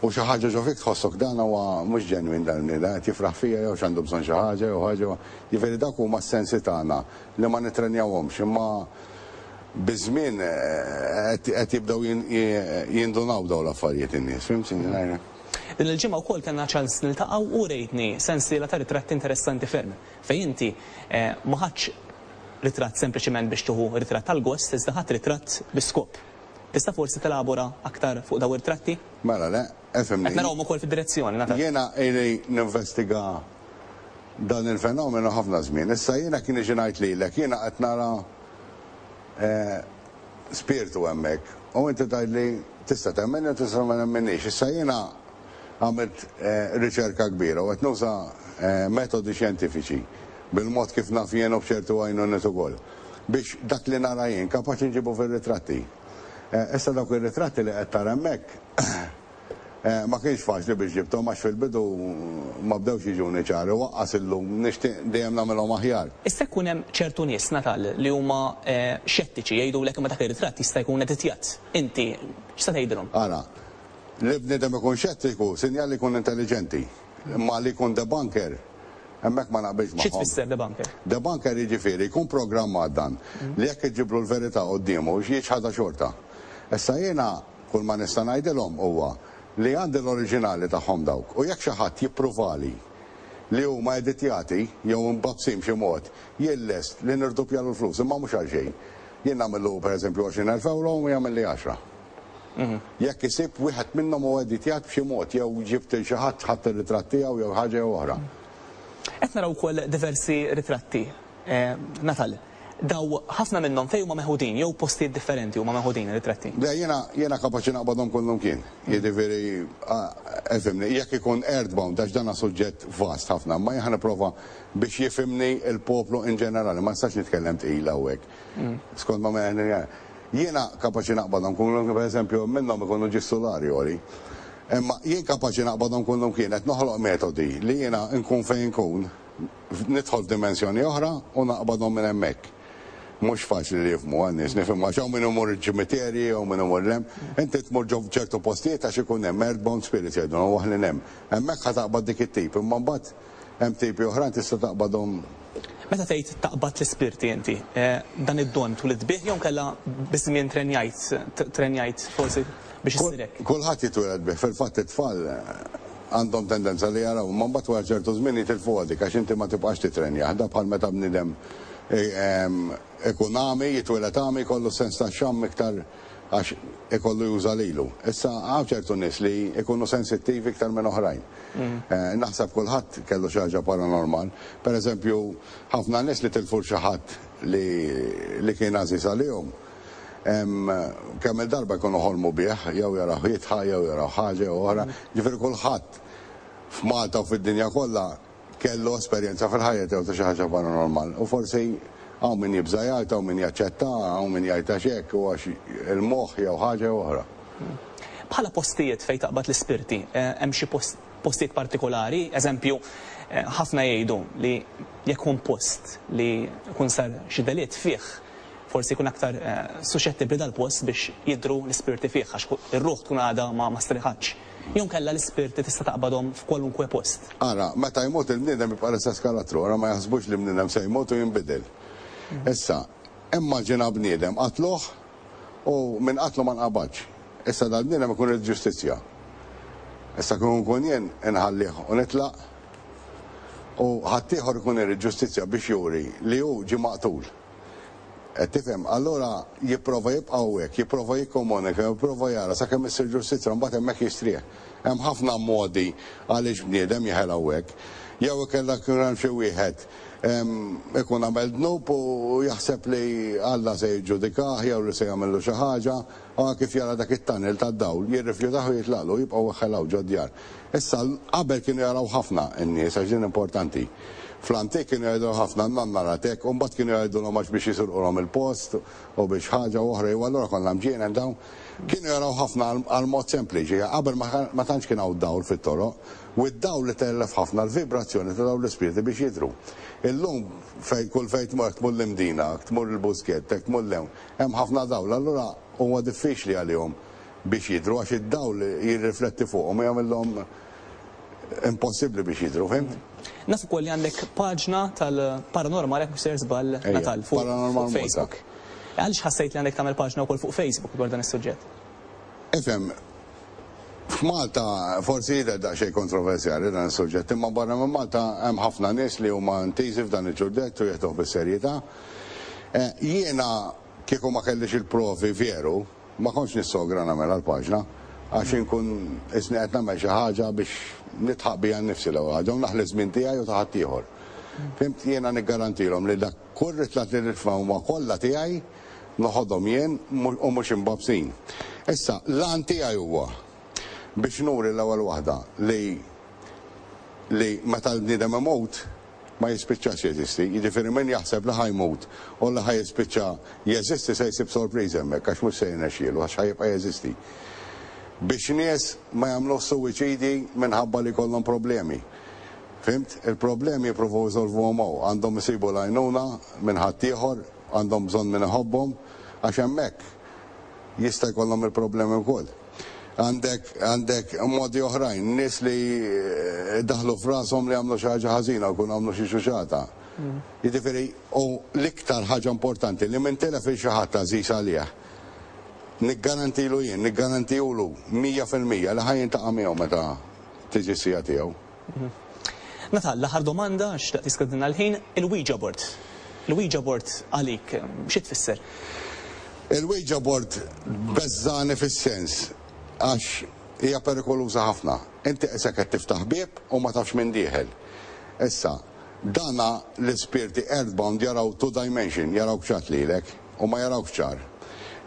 u xi ħaġa ġo fik tħossok dan huwa mhux ġenwin dan il-bniedem, qed jifraħ fija jew x'għandu bżonn xi ħaġa jew ħaġa. Jiġifieri dawk huma s-sensi tagħna li ma nitrenjawhomx, imma biż-żmien qed jibdew jindunaw dawn l-affarijiet in-nies, fimt x'inhi? Din il-ġimgħa wkoll kellna ċans niltaqgħu u rejtni sensiela ta' ritratti interessanti ferm fejn inti ma ħadx ritratt sempliċement biex tieħu ritratt tal-gost, iżda ħadd ritratt bi skop. Tista' forsi telabora aktar fuq dawn ir-ritratti? Mela le, efhimni. Qed narawhom ukoll fid-direzzjoni, Natal. Jiena ili ninvestiga dan il-fenomenu ħafna żmien. Issa jiena kien iġi ngħid lilek, jiena qed nara spiritu hemmhekk u inti tgħidli tista' temmen jew tista' ma temmenniex. Issa jiena għamilt riċerka kbira u qed nuża metodi xjentifiċi bil-mod kif naf jien u b'ċertu għajnuniet ukoll biex dak li nara jien kapaċi nġibu fir-ritratti. Issa dawk ir-ritratti li qed tara hemmhekk ma kienx faċli biex ġibthom għax fil-bidu ma bdewx jiġuni ċari, waqqas illum nixtieq dejjem nagħmilhom aħjar. Issa jkun hemm ċertu nies, Natal, li huma xettiċi jgħidulek imma dak ir-ritratt jista' jkun editjat. Inti x'se tgħidilhom? Ara, li bniedem ikun xettiku sinjal li jkun intelligenti, imma li jkun debunker hemmhekk ma naqbilx magħhom. Xi tfisser debunker? Debunker jiġifieri jkun programmat dan li jekk iġiblu l-verità quddiemu jiġħadha xorta. Issa jiena kull ma nista' ngħidilhom huwa li għandi l-oriġinali tagħhom dawk u jekk xi ħadd jippruvali li huma editjati jew imbabsin b'xi mod, jien lest li nirdupjalu l-flus, imma mhux għal xejn. Jien nagħmillu pereżempju għoxrin elf euro u jagħmel li għaxra. Jekk isib wieħed minnhom huwa editjat b'xi mod jew ġibt il xi ħadd ħadd ir-ritratt tiegħu jew ħaġa jew oħra. Qed naraw ukoll diversi ritratti. Natal, Daw ħafna minnhom fejn huma meħudin jew postijiet differenti huma meħudin ir-ritratti? Le, jiena jiena kapaċi naqbadhom kullum kien. Jiġifieri, ifhimni, jekk ikun earthbound, għax dan suġġett vast ħafna, ma jien nipprova biex jifhimni il-poplu in ġenerali, ma nistax nitkellem tqila hawnhekk. Skont ma minn jiena kapaċi naqbadhom kullum, per eżempju, minnhom ikunu ġis-sulari għoli. Imma jien kapaċi naqbadhom kullum kien, qed noħloq metodi li jiena nkun fejn nkun, nidħol f'dimensjoni oħra u naqbadhom minn hemmhekk. Mhux faċli li jifhmu għan-nies, nifhem għax hawn min imur il-ċimiterji, hawn min imur 'l hemm. Inti tmur ġo ċertu postijiet għax ikun hemm earthbound spirits jgħidu, u aħna hemm. Hemmhekk ħa taqbad dik it-tip, imma mbagħad hemm tipi oħrajn tista' taqbadhom. Meta tgħid taqbad l-ispirti inti, eh, dan id-don twelidt bih jew kella biż-żmien trenjajt, trenjajt forsi biex issirek? Kulħadd jitwieled bih, fil-fatt it-tfal eh, għandhom tendenza li jaraw, ma mbagħad wara ċertu żmien jitilfu dik għax inti ma tibqax titrenja. Da bħal meta bniedem eh, ikun għami, jitwieled għami, jkollu sens ta' xamm iktar għax ikollu juża lilu. Issa hawn ċertu nies li ikunu sensittivi iktar minn oħrajn. Eh, Naħseb kulħadd kellu xi ħaġa paranormal. Per eżempju, ħafna nies li tilfu xi ħadd li, li kien għażiż għalihom. Kemm il-darba jkunu ħolmu bih, jew jaraw jidħak, jew jaraw ħaġa jew oħra. Ġifieri kulħadd f'Malta u fid-dinja kollha kellu esperjenza fil-ħajja tiegħu ta' xi ħaġa paranormal. U forsi hawn min jibża' jgħid, hawn min jaċċetta, hawn min jgħid għax hekk u għax il-moħħ jew ħaġa jew oħra. Bħala postijiet fejn taqbad l-ispirti, eh, hemm xi postijiet partikolari, eżempju, eh, ħafna jgħidu li jekk kun post li jkun sar xi delitt fih, forsi jkun aktar eh, suscettibbli dal-post biex jidru l-ispirti fih, għax ir-ruħ tkun għadha ma ma striħatx. Jew kella l-ispirti tista' taqbadhom f'kwalunkwe post. Ara, meta jmut il-bniedem jibqa' l-istess karattru, ara ma jaħsbux li bniedem se jmut u jinbidel. Issa, immaġina bniedem qatluh u minn qatlu ma nqabadx. Issa dal-bniedem ikun il-ġustizzja. Issa kun kun jien inħallih u nitlaq u ħaddieħor ikun irid ġustizzja biex juri li hu ġie maqtul. Qed tifhem, allura jipprova jibqa' hawnhekk, jipprova jikkomunika, jipprova jara sakemm issir ġustizzja mbagħad hemmhekk jistrieħ. Hemm ħafna modi għaliex bniedem jeħel hawnhekk. Jew ikella kien hemm xi wieħed ikun għamel dnub u jaħseb li Alla se jiġġudikah jew li se jagħmillu xi ħaġa, u kif jara dak it-tunnel tad-dawl jirrifjutah u jitlaqlu jibqgħu weħħelaw ġod-djar. Issa qabel kienu jaraw ħafna n-nies għax din importanti. Fl-antik kienu jgħidu ħafna nanna ratek, u mbagħad kienu jgħidulhom għax biex jisirqulhom il-post u biex ħaġa oħra jew allura konna mġienen dawn. Kienu jaraw ħafna għal mod sempliċi, qabel ma tantx kien hawn dawl fit-toroq, u d-dawl li tellef ħafna l-vibrazzjoni ta' dawn l-ispirti biex jidhru. Illum fejn kull fejn tmur tmur l-Imdina, tmur il-Buskett, tmur l-hemm, hemm ħafna dawl, allura huwa diffiċli għalihom biex jidhru għax id-dawl jirrifletti fuqhom u jagħmilhom impossibbli biex jidhru, fhimt? Naf ukoll li għandek paġna tal-Paranormal, jekk mhux sejjer żball, Ejja, Natal, fuq Paranormal fuq Facebook. Malta. Għaliex ħassejt li għandek tagħmel paġna wkoll fuq Facebook dwar dan is-suġġett? Ifhem, f'Malta forsi jidher daqsxejn kontroversjali dan is-suġġett, imma barra minn Malta hemm ħafna nies li huma intiżi f'dan il-ġurdett u jieħduh bis-serjetà. Eh, jiena kieku ma kellix il-provi veru, ma kontx nissogra nagħmel għall-paġna, għax inkun isni qed nagħmel xi ħaġa biex nidħaq bija nnifsi l-ewwel ħaġa u naħli żmien tiegħi u ta' ħaddieħor. Fhimt, jiena niggarantilhom li dak kull ritrat li nitfa' huma kollha tiegħi noħodhom jien u mhux imbabsin. Issa, l-għan tiegħi huwa biex nuri l-ewwel waħda li li meta l-bniedem imut ma jispiċċax jeżisti. Jiġifieri min jaħseb li ħa jmut u li ħa jispiċċa jeżisti se jsib sorpriża hemmhekk għax mhux se jirnexxielu għax ħa jibqa' jeżisti. Biex nies ma jagħmlux suwiċidi minħabba li jkollhom problemi. Fhimt? Il-problemi jippruvaw jsolvuhom hawn, għandhom isibu l-għajnuna minn ħaddieħor, għandhom bżonn min iħobbhom, għax hemmhekk jista' jkollhom il-problemi wkoll. Għandek, għandek modi oħrajn, nies li eh, daħlu f'rashom li għamlu xi ħaġa ħażina u jkunu għamlu xi xuxata. Jiġifieri, u l-iktar ħaġa importanti li min tilef il xi ħadd għażiż għalih, niggarantilu jien, niggarantihulu mija fil-mija li ħa jiltaqa' miegħu meta tiġi s-siegħa tiegħu. Natal, l-aħħar domanda, xtaqt jiskadilna l-ħin, il-Ouija board. Il-Ouija board għalik, xi tfisser? Il-Ouija board beżżagħni fis-sens għax hija perikoluża ħafna. Inti qisek qed tiftaħ bieb u ma tafx min dieħel. Issa, Dana l-ispirti earthbound jaraw two dimension, jaraw ċat lilek u ma jaraw ċar.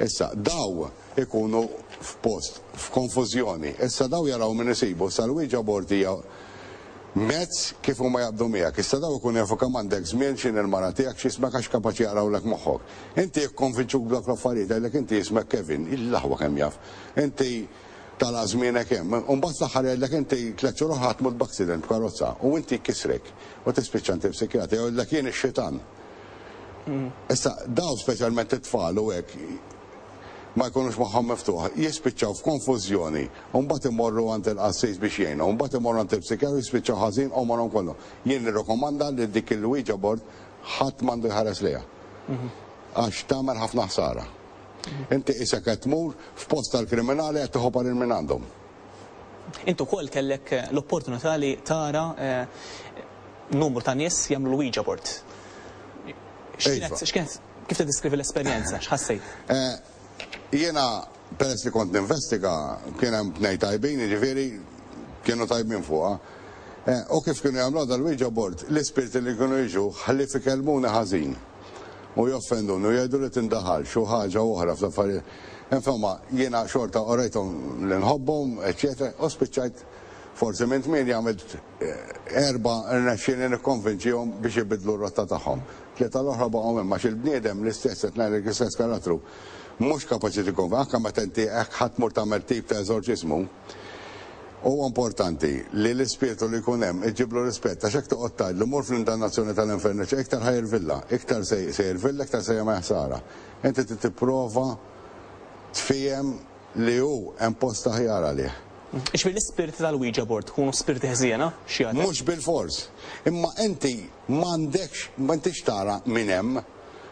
Issa, daw ikunu f'post, f'konfużjoni. Issa daw jaraw min isibu, issa l-Ouija board hija mezz kif huma jaqbdu miegħek. Issa daw ikun jafu kemm għandek żmien x'in il-mara tiegħek x'ismek għax kapaċi jaqrawlek moħħok. Inti jikkonvinċuk b'dawk l-affarijiet, jgħidlek inti jismek Kevin, il-laħwa kemm jaf. Inti tala żmienek hemm. U mbagħad fl-aħħar jgħidlek inti tliet xhur oħra tmut b'accident b'karozza u inti jkissrek u tispiċċa inti psikjatra jgħidlek jien ix-xitan. Issa daw speċjalment it-tfal u hekk ma jkunux moħħhom miftuħ, jispiċċaw f'konfużjoni, u mbagħad imorru għand il-qassis biex jgħinu, u mbagħad imorru għand il-psikjatru jispiċċaw ħażin għomorhom kollu. Jien nirrakkomanda li dik il-Ouija board ħadd m'għandu jħares lejha. Għax tagħmel ħafna ħsara. Inti isek qed tmur f'post tal-kriminali qed tieħu parir minn għandhom. Intu wkoll kellek l-opportunità li tara numru ta' nies jagħmlu l-Ouija board. X'kienet, kif tiddeskrivi l-esperjenza, x'ħassejt? Jiena peress li kont ninvestiga, kien hemm tnejn tajbin, jiġifieri kienu tajbin fuqha. U kif kienu jagħmlu dal-Ouija board, l-ispirti li kienu jiġu ħlief ikellmuni ħażin u joffenduni u jgħidu li tindaħal xi ħaġa oħra fl-affarijiet. Insomma, jiena xorta orejthom li nħobbhom, eċċetera, u spiċċajt forsi minn tmienja għamilt erba' rnexxieli nikkonvinċihom biex ibidlu r-rotta tagħhom. Tlieta l-oħra baqgħu hemm għax il-bniedem l-istess qed ngħidlek l-istess karattru. Mhux kapaċi tikkonvinċi, anke meta inti hekk ħadd tmur tagħmel tip ta' eżorċismu. Huwa importanti li l-ispirtu li jkun hemm iġiblu rispett, għax hekk toqgħod tgħidlu mur fl-indannazzjoni tal-infern, iktar ħajrvilla, iktar se jirvilla, iktar se jagħmel ħsara. Inti trid tipprova tfiem li hu hemm post aħjar għalih. Ixbi l-ispirti tal-Ouija board tkunu spirti ħżiena xi għadek? Mhux bil-fors. Imma inti m'għandekx, m'intix tara min hemm,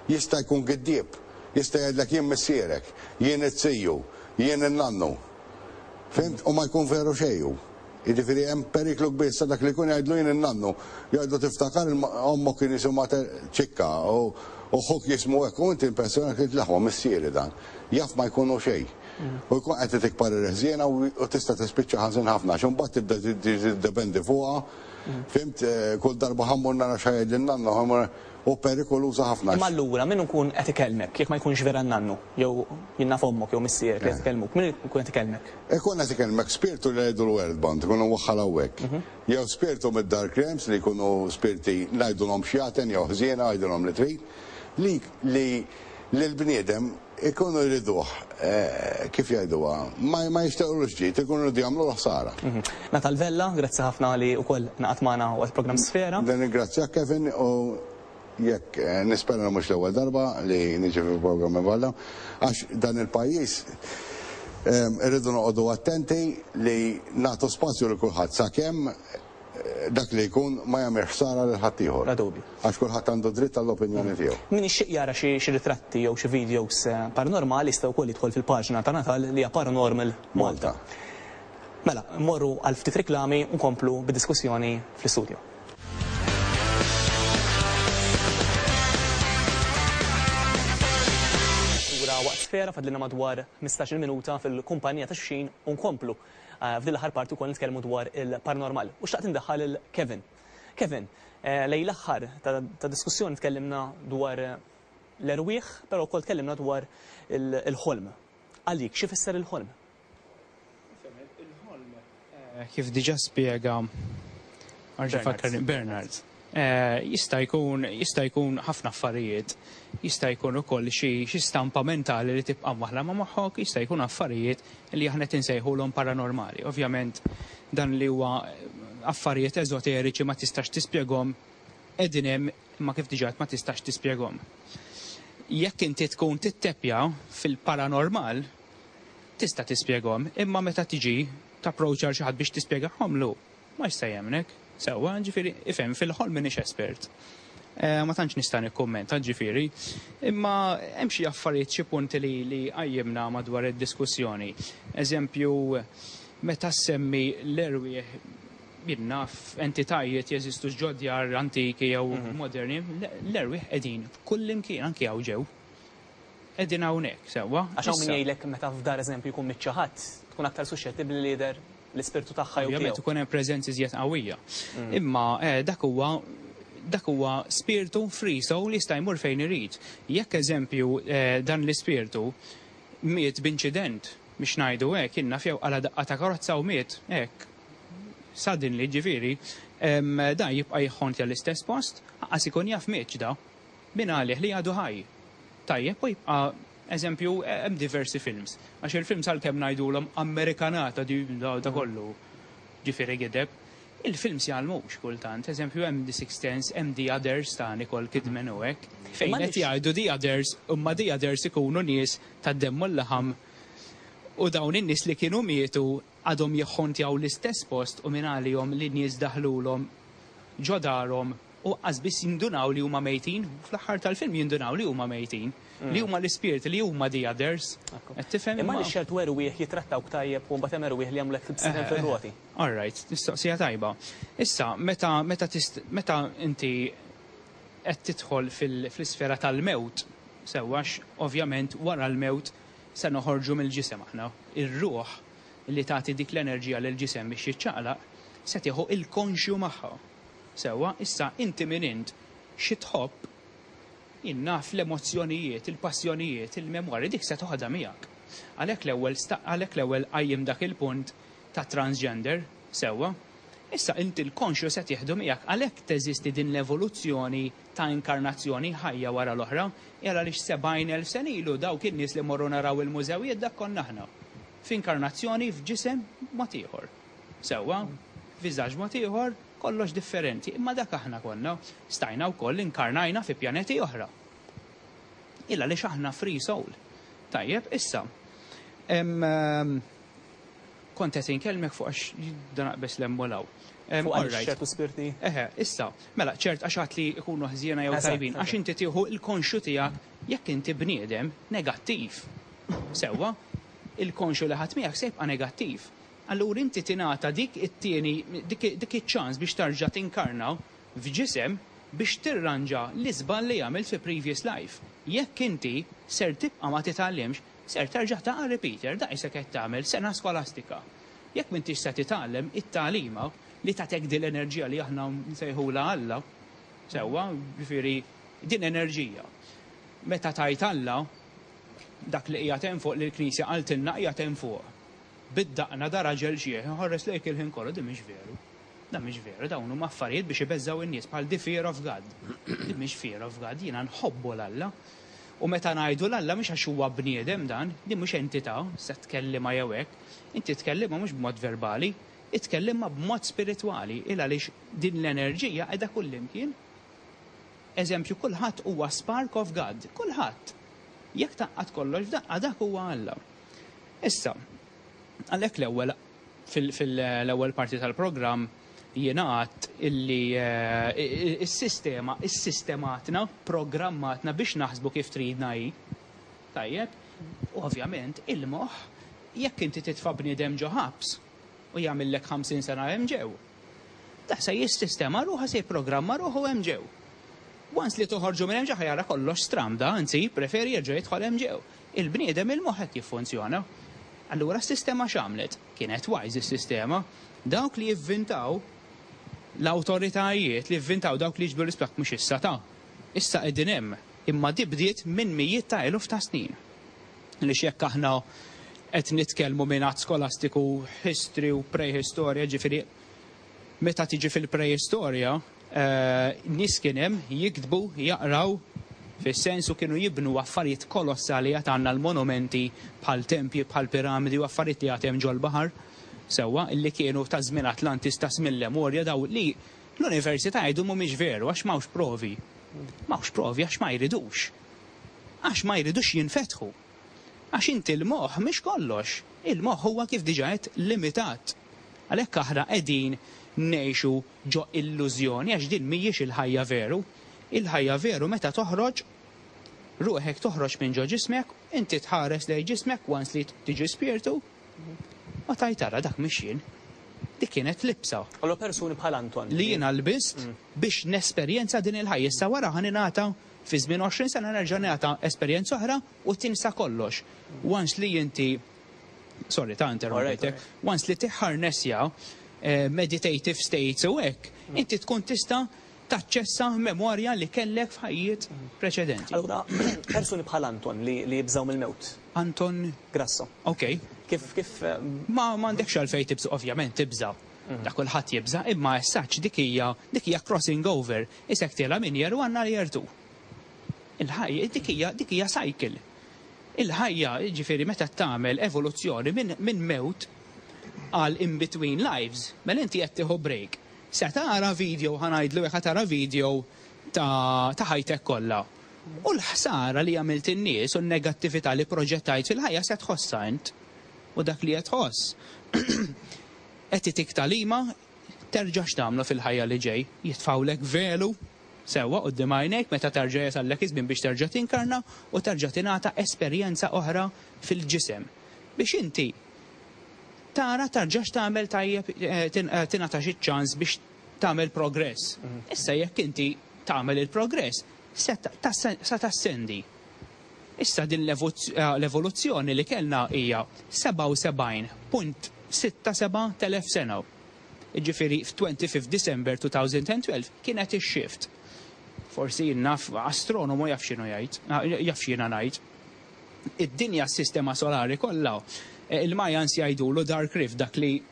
jista' jkun giddieb, jista' jgħidlek jien missierek, jien it-siju, jien in-nannu. Fimt? U ma jkun veru xejn. Jiġifieri hemm periklu kbir sa dak li jkun jgħidlu jien in-nannu, jgħidlu tiftakar ommok kien jisimha ċikka u ħuk jismu hekk u inti impressjonat li tlaħwa missieri dan. Jaf ma jkunu xejn. U jkun qed tikbar ir-ħżiena u tista' tispiċċa ħażin ħafna għax imbagħad tibda tiddependi fuqha. Fimt, kull darba ħammur nara x'ħajjed lin-nannu, ħammur u perikoluża ħafna. Imma allura min ikun qed ikellmek jekk ma jkunx vera n-nannu jew jien naf ommok jew missierek li qed ikellmuk, min ikun qed ikellmek? Ikun qed ikellmek spirtu li jgħidu l-earthbound, ikunu waħħal hawnhekk. Jew spirtu mid-dark realms li jkunu spirti ngħidulhom xjaten jew ħżiena ngħidulhom li trid, li l-bniedem ikunu jriduh, kif jgħiduha, ma jixtiequlux ġid, ikunu jridu jagħmlu ħsara. Natal Vella, grazzi ħafna li wkoll naqgħod magħna waqt programm Sfera. Nirringrazzjak Kevin u jekk nispera mhux l-ewwel darba li niġi fil-programm Vella, għax dan il-pajjiż irridu noqogħdu attenti li nagħtu spazju lil kulħadd sakemm dak li jkun ma jagħmel ħsara lil ħaddieħor. La dubju. Għax kulħadd għandu dritt għall-opinjoni tiegħu. Min ixtieq jara xi ritratti jew xi videos paranormali jista' wkoll jidħol fil-paġna ta' Natal li hija Paranormal Malta. Mela, mmorru għal ftit riklami u nkomplu bid-diskussjoni fl-istudju. Waqt Sfera fadlina madwar ħmistax-il minuta fil-kumpanija ta' xulxin u nkomplu f'din l-aħħar parti wkoll nitkellmu dwar il-paranormal. U xtaqt indaħħal il Kevin. Kevin, lejn l-aħħar ta' diskussjoni tkellimna dwar l-erwieħ, però wkoll tkellimna dwar il-ħolm. Għalik, xi fisser il-ħolm? Il-ħolm, kif diġà spjega Bernard, jista' jkun jista' jkun ħafna affarijiet, jista' jkun ukoll xi stampa mentali li tibqa' waħla ma' moħħok, jista' jkun affarijiet li aħna qed insejħulhom paranormali. Ovvjament dan li huwa affarijiet eżoteriċi ma tistax tispjegahom, qegħdin hemm imma kif diġà ma tistax tispjegahom. Jekk inti tkun tittepja fil-paranormal, tista' tispjegahom, imma meta tiġi tapproċċa xi ħadd biex tispjegahomlu, ma jista' jemmnek. Sewwa, ġifieri, ifhem, fil-ħolm m'iniex espert. Ma tantx nista' nikkummenta, ġifieri, imma hemm xi affarijiet, xi punti li li qajjimna madwar id-diskussjoni. Eżempju, meta semmi l-erwieħ jien naf entitajiet jeżistu ġodjar antiki jew moderni, l-erwieħ qegħdin kull imkien anki hawn ġew. Qegħdin hawnhekk, sewwa. Għax hawn min jgħidlek meta f'dar eżempju jkun miċ ħadd, tkun aktar suxxettibbli li jidher l-ispirtu tagħha jew Ovvjament tiegħu. ikun hemm preżenzi iżjed qawwija. Imma dak huwa Dak huwa spiritu free soul li jista' jmur fejn irid. Jekk, eżempju, eh, dan l-ispirtu miet b'inċident, biex ngħidu hekk, inna fjew għala daqqa ta' karozza u miet, hekk. Suddenly, ġifieri, em, da jibqa' jħontja l-istess post, għas ikun jaf mietx da. Min għalih li għadu ħaj. Tajjeb, u jibqa', eżempju, hemm diversi films. Għax il-films, għalkemm ngħidulhom Amerikanata di da, da kollu, ġifieri gideb, il-films jgħallmux kultant. Eżempju, hemm The Sixth Sense, hemm The Others ta' Nicole Kidman u hekk. Fejn Ma qed nix- jgħidu The Others, imma The Others ikunu nies tad-demm u l-laħam u dawn in-nies li kienu mietu għadhom jħontjaw l-istess post u minn għalihom li nies daħlulhom ġo darhom u qas biss jindunaw li huma mejtin, fl-aħħar tal-film jindunaw li huma mejtin, li huma l-ispirit, li huma the others. Qed tifhem? Imma Imma- li ċertu erwieħ jitrattawk tajjeb u mbagħad hemm erwieħ li jagħmlek tibsem fir-roti. All right, mistoqsija tajba. Issa, meta meta tist, meta inti qed tidħol fil- fl-isfera tal-mewt, sewwax ovvjament wara l-mewt se noħorġu mill-ġisem aħna. Ir-ruħ li tagħti dik l-enerġija lil ġisem biex jiċċaqlaq se tieħu il-konxju magħha. Sewwa, issa inti min int, xi tħobb, innaf l-emozzjonijiet, il-passjonijiet, il-memorji, dik se toħodha miegħek. Għalhekk l-ewwel sta- għalhekk l-ewwel qajjem dak il-punt ta' transgender, sewwa. Issa inti l-konxju se tieħdu miegħek, għalhekk teżisti din l-evoluzzjoni ta' inkarnazzjoni, ħajja wara l-oħra, jara li sebgħin elf sena ilu dawk in-nies li morru naraw il-mużewijiet, dak konna aħna. F'inkarnazzjoni, f'ġisem mod ieħor. Sewwa, viżaġġ mod ieħor, kollox differenti, imma dak aħna konna. Stajna wkoll inkarnajna fi pjaneti oħra. Illa li aħna free soul. Tajjeb, issa. Em, em, kont qed inkellmek fuq għax dan aqbes l-emmolaw. Fuq għaliex ċertu spirti. Eħe, issa, mela, ċert għax għat li ikunu ħżiena jew Eżatt, tajbin, għax eżatt. inti tieħu il-konxju tiegħek. Jekk inti bniedem negattiv. Sewwa, il-konxju li ħadd miegħek se jibqa' negattiv. Allura inti tingħata dik it-tieni dik dik iċ-ċans biex tarġa' tinkarna f'ġisem biex tirranġa l-iżball li għamilt fi previous life. Jekk inti ser tibqa' ma titgħallimx, ser terġa' taqa' repeater, da qisek qed tagħmel sena skolastika. Jekk m'intix se titgħallem it-tagħlima li tagħtek din l-enerġija li aħna nsejħula Alla, sewwa, ġifieri din enerġija. Meta tajt Alla, dak li qiegħed hemm fuq, li l-Knisja qaltilna qiegħed hemm fuq. Bid-daqna da raġel xieħ, ħares lejk il-ħin kollu, din mhix veru. Da mhix veru, dawn huma affarijiet biex ibeżżaw in-nies, bħal the fear of God. Din mhix fear of God, jiena nħobbu l-Alla. U meta ngħidu l-Alla, mhux għax huwa bniedem dan, din mhux entità se tkellima jew hekk, inti tkellimha mhux b'mod verbali, itkellimha b'mod spiritwali, il għaliex din l-enerġija qiegħda kullimkien. Eżempju, kulħadd huwa spark of God, kulħadd. Jekk tgħaqqad kollox f'daqqa, dak huwa Alla. Issa, għalhekk l-ewwel fil-ewwel parti tal-programm jiena għadt illi eh, is-sistema, is-sistematna, programmatna biex naħsbu kif tridna hi. Tajjeb, u ovvjament il-moħħ, jekk inti titfa' bniedem ġo ħabs u jagħmellek ħamsin sena hemm ġew. Da se jissistema ruħa, se jipprogramma ruħu hemm ġew. Once li toħorġu minn hemm ġo, jara kollox stramda, anzi preferi jerġa' jidħol hemm ġew. Il-bniedem, il-moħħ hekk jiffunzjona. Allura s-sistema x'għamlet? Kienet wise is-sistema. Dawk li jivvintaw, l-awtoritajiet li jivvintaw, dawk li jiġbru l-isplak, mhux issa ta'. Issa qegħdin hemm, imma di bdiet minn mijiet ta' eluf ta' snin. Li jekk aħna qed nitkellmu minn għad skolastiku, history u prehistorja, ġifieri meta tiġi fil-preistorja, eh, nies kien hemm jiktbu, jaqraw, fis-sensu kienu jibnu affarijiet kolossali, għad għandna l-monumenti bħal tempji, bħal piramidi u affarijiet li għad hemm ġol-baħar, sewwa, illi kienu ta' żmien Atlantis, ta' żmien Lemurja, daw li l-università jgħidu mhumiex veru għax m'hawnx provi. M'hawnx provi għax ma jridux. Għax ma jridux jinfetħu. Għax inti l-moħħ mhix kollox. Il-moħħ huwa, kif diġà qed, limitat. Għalhekk aħna qegħdin ngħixu ġo illużjoni, għax din mhijiex il-ħajja veru. Il-ħajja veru meta toħroġ ruħek, toħroġ minn ġo ġismek, inti tħares lejn ġismek once li tiġi spiritu, ma tajtara dak mhix jien. Dik kienet libsa Allora persuni bħal Anton. Li jiena lbist biex nesperjenza din il-ħajja. Issa wara ħa ningħata fi żmien għoxrin sena, nerġa' nagħta esperjenza oħra u tinsa kollox. Once li inti, sorry ta' interrompejtek, once li tiħarnessja eh, meditative states u hekk, inti tkun tista' Taċċessa memorja li kellek f'ħajjiet preċedenti. Allura, persuni bħal Anton li li jibżgħu mill-mewt. Anton Grasso. Ok. Kif kif eh, Ma m'għandekx għalfejn tibża', ovvjament tibża'. Da kulħadd jibża', imma essaċ dik hija dik hija crossing over. Isek tiela minn year one għal year two. Il-ħajja dik hija dik hija cycle. Il-ħajja, ġifieri meta tagħmel evoluzzjoni minn min mewt għal in between lives, mela inti qed tieħu break. Se tara video, ħa ngħidlu jekk tara video ta' ta' ħajtek kollha. U l-ħsara li għamilt in-nies u n-negattività li proġettajt fil-ħajja se tħossha int. U dak li qed tħoss. Qed itik tagħlima terġax tagħmlu fil-ħajja li ġej. Jitfawlek velu sewwa quddiem għajnejk meta terġa' jasallek iż-żmien biex terġa' tinkarna u terġa' tingħata esperjenza oħra fil-ġisem. Biex inti tara tarġax tagħmel tajjeb, eh, tin- eh, tingħata xi ċans biex tagħmel progress. Issa jekk inti tagħmel il-progress, se ta- tas- sa tassendi. Issa din l-evozz- eh, l-evoluzzjoni li kellna hija sebgħa u sebgħin punt sitta seba' telef sena. Ġifieri f'twenty-fifth December twenty twelve kienet ix-shift. Forsi naf astronomu jaf x'inhu jgħid, ah, jaf x'jiena ngħid. Id-dinja, s-sistema solari kollha, eh, il-Mayans jgħidulu Dark Rift, dak li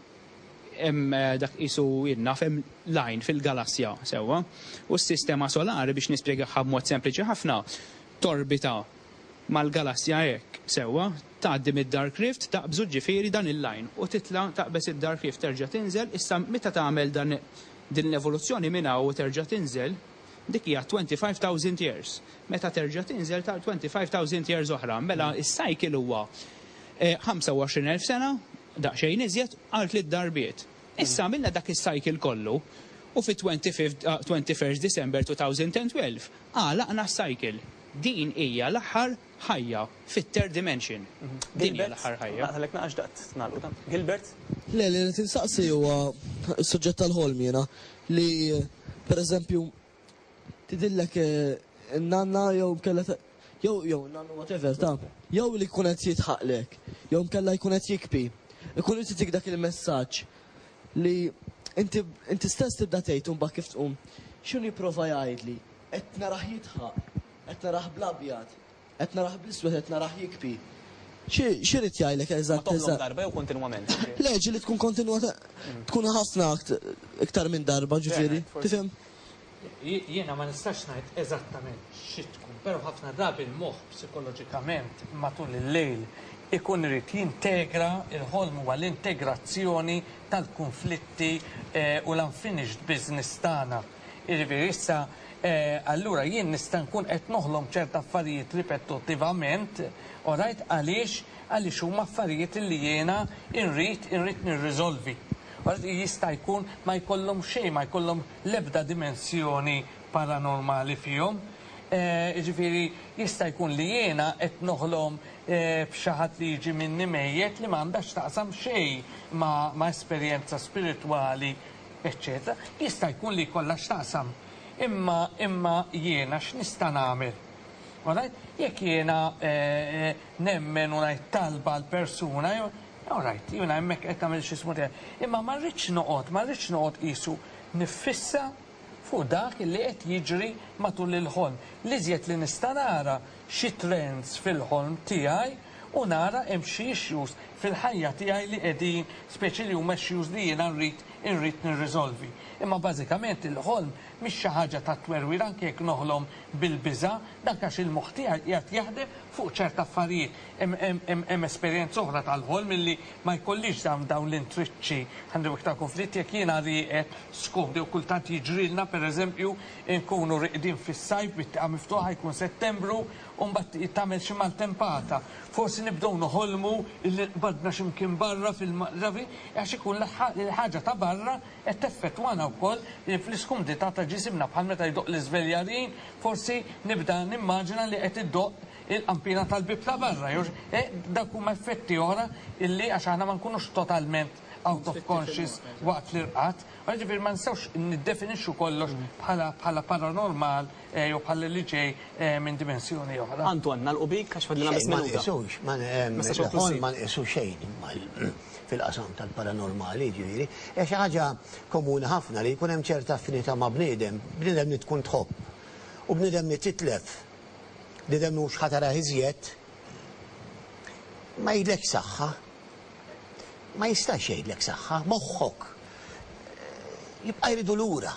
hemm eh, dak isu jinnaf hemm line fil-galassja sewwa. U s-sistema solari, biex nispjegaha b'mod sempliċi ħafna, torbita mal-galassja hekk sewwa, tgħaddi mid-Dark Rift, taqbżu ġifieri dan il-line u titla' taqbeż id-Dark Rift, terġa' tinżel. Issa meta tagħmel dan din l-evoluzzjoni minn hawn u terġa' tinżel, dik hija twenty-five thousand years. Meta terġa' tinżel ta' twenty-five thousand years oħra, mela is-cycle huwa eh, ħamsa u għoxrin elf sena, daqsxejn iżjed għal tliet darbiet. Issa għamilna dak is-cycle kollu u fi twenty-fifth, uh, twenty-first December twenty twelve għalaqna s-cycle. Din hija l-aħħar ħajja fit-third dimension. Din hija l-aħħar ħajja. Għalek naqax daqt nagħlqu ta' Gilbert? Le, li tinsaqsi huwa s-suġġett tal-ħolm jiena li per eżempju tidhirlek eh, n-nanna jew kella jew jew nanna, whatever, ta' jew li jkun qed jidħaqlek jew kella jkun qed jibki. Ikun qed jitik dak il-messaġġ li inti inti stess tibda tgħid mbagħad kif tqum x'inhu jipprova jgħidli, qed narah jidħaq, qed narah bl-abjad, qed narah bl-iswed, qed narah jibki. X'irid jgħidlek Ma eżatt toħlom eżatt? darba jew kontinwament? Le, ġieli tkun kontinwata, tkun ħafna iktar minn darba, ġifieri. Tifhem? Jiena ma nistax ngħid eżattament xi tkun, però ħafna drabi il-moħħ psikoloġikament matul il-lejl ikun irid jintegra. Il-ħolm huwa l-integrazzjoni tal-konflitti eh, u l-unfinished business tagħna. Jiġifieri issa eh, allura jien nista' nkun qed noħlom ċerta affarijiet ripetuttivament, alright, għaliex għaliex huma affarijiet li jiena irrid irrid nirriżolvi. Jista' jkun ma jkollhom xejn, ma jkollhom l-ebda dimensjoni paranormali fihom. Eh, Ġifieri jista' jkun li jiena qed noħlom eh, b'xi ħadd li jiġi minni mejjet li m'għandax taqsam xejn ma', ma esperjenza spiritwali, eccetera. Jista' jkun li jkollha x'taqsam. Imma imma jiena x'nista' nagħmel? Alright? Jekk jiena eh, nemmen u ngħid talba għal persuna, alright, jiena hemmhekk qed nagħmel xi smutija. Imma ma rridx noqgħod, ma rridx noqgħod qisu niffissa fuq dak li qed jiġri matul il-ħolm. L-iżjed li nista' nara xi trends fil-ħolm tiegħi u nara hemm xi issues fil-ħajja tiegħi li qegħdin, speċi li huma issues li jiena nrid irrid nirriżolvi. Imma bażikament il-ħolm mhix xi ħaġa ta' twerwir. Anke jekk noħlom bil-biża', dak għax il-moħħ tiegħi qiegħed jaħdem fuq ċerta affarijiet. Hemm esperjenza oħra tal-ħolm illi ma jkollix dawn dawn l-intriċċi għandu iktar konflitt jekk jiena rieqed skomdi, u kultant jiġrilna, pereżempju, nkunu riqdin fis-sajf bit-tieqa miftuħa, jkun Settembru u mbagħad tagħmel xi maltempata. Forsi nibdew noħolmu illi qbadna x'imkien barra fil-ravi għax ikun l-ħaġa ta' barra qed teffettwana wkoll fl-iskumdità ta' ġisimna, bħal meta jdoqq l-iżveljarin, forsi nibda nimmaġina li qed iddoqq il-qampina tal-bib ta' barra. Eh, dak huma effetti oħra illi għax aħna ma nkunux totalment out of conscious waqt l-irqad. Ġifieri ma nistgħux niddefinixxu kollox bħala bħala paranormal eh, jew bħala li ġej eh, minn dimensjoni oħra. Anton, nagħlqu bik għax fadlilna biss Ma minuta. nqisux, ma Messaġġ il-ħolm konklusiv. ma nqisu xejn, imma l- fil-qasam tal-paranormali, ġifieri. Hija xi ħaġa komuni ħafna li jkun hemm ċerta affinità ma' bniedem, bniedem li tkun tħobb u bniedem li titlef, bniedem mhux ħa tarah iżjed, ma jgħidlek saħħa. Ma jistax jgħidlek saħħa, moħħok jibqa' jridu lura.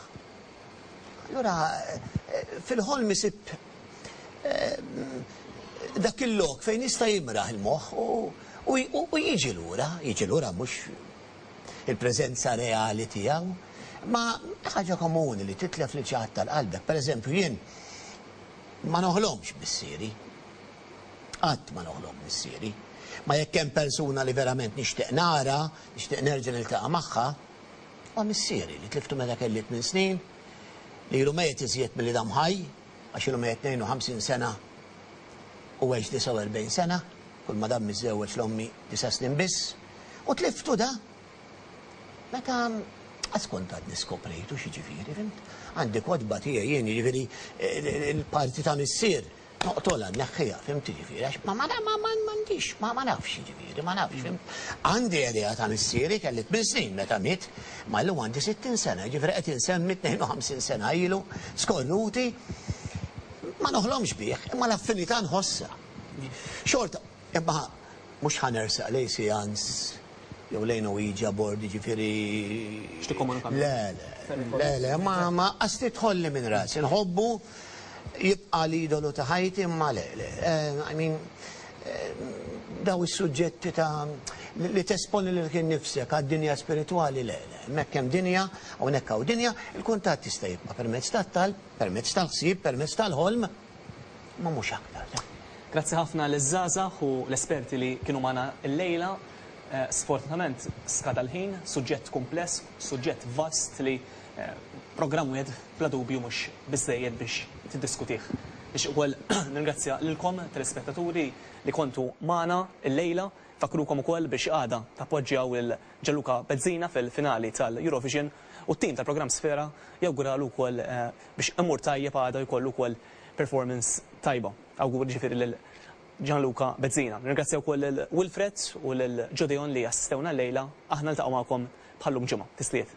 Allura fil-ħolm isib dak il-lok fejn jista' jimraħ il-moħħ u jiġi lura, jiġi lura mhux il-preżenza reali tiegħu, ma ħaġa komuni li titlef li xi ħadd tal-qalbek. Per eżempju, jien ma noħlomx missieri. Qatt ma noħlom missieri. Ma jekk hemm persuna li verament nixtieq nara, nixtieq nerġa' niltaqa' magħha, huwa missieri li tliftu meta kelli tmien snin, li ilu mejjet iżjed milli dam ħaj, għax ilu mejjet tnejn u ħamsin sena u għex disgħa u erbgħin sena, kull ma dam miżżewweġ l-ommi disa' snin biss, u tliftu da. Meta għas kont għadni skoprejtu x'jiġifieri, fhimt? Għandi kotba tiegħi jien, jiġifieri il-parti ta' missier, noqtolha, neħħiha, fhimt, jiġifieri, għax ma ma ma ma m'għandix, ma ma nafx jiġifieri, ma nafx, fhimt? Għandi idea ta' missieri, kelli tmien snin meta miet, ma llum għandi sittin sena, jiġifieri qed insemmi tnejn u ħamsin sena ilu, skorruti, ma noħlomx bih, imma l-affinità nħossha. Xorta, imma mhux ħa nersaq lejn seance jew lejn Ouija board, ġifieri. X'tikkomunika? Le, le, le, le, ma ma qas tidħolli minn rasi, nħobbu, jibqa' l-idolu ta' ħajti, imma le, le. Eh, I mean, eh, daw is-suġġetti ta' li tesponi lilek innifsek għad-dinja spiritwali, le, le. Hemmhekk hemm dinja, hawnhekk hawn dinja, il-kuntatt jista' jibqa' permezz tat-talb, permezz tal-ħsieb, permezz tal-ħolm, ma mhux aktar. Grazzi ħafna l-żgħażagħ u l-esperti li kienu magħna l-lejla. Eh, Sfortunatament skada l-ħin, suġġett kumpless, suġġett vast li eh, programm wieħed bla dubju mhux biżejjed biex tiddiskutih. Biex ukoll nirringrazzja lilkom telespettaturi li kontu magħna l-lejla. Nfakkrukom ukoll biex għada tappoġġjaw lil Gianluca Bezzina fil-finali tal-Eurovision u t-tim tal-programm Sfera jawguralu wkoll eh, biex imur tajjeb għada, jkollu wkoll performance tajba. Awguri ġifieri lil Gianluca Bezzina. Nirringrazzja wkoll lil Wilfred u lil Jodeon li assistewna l-lejla. Aħna niltaqgħu magħkom bħallum ġimgħa. Tisliet.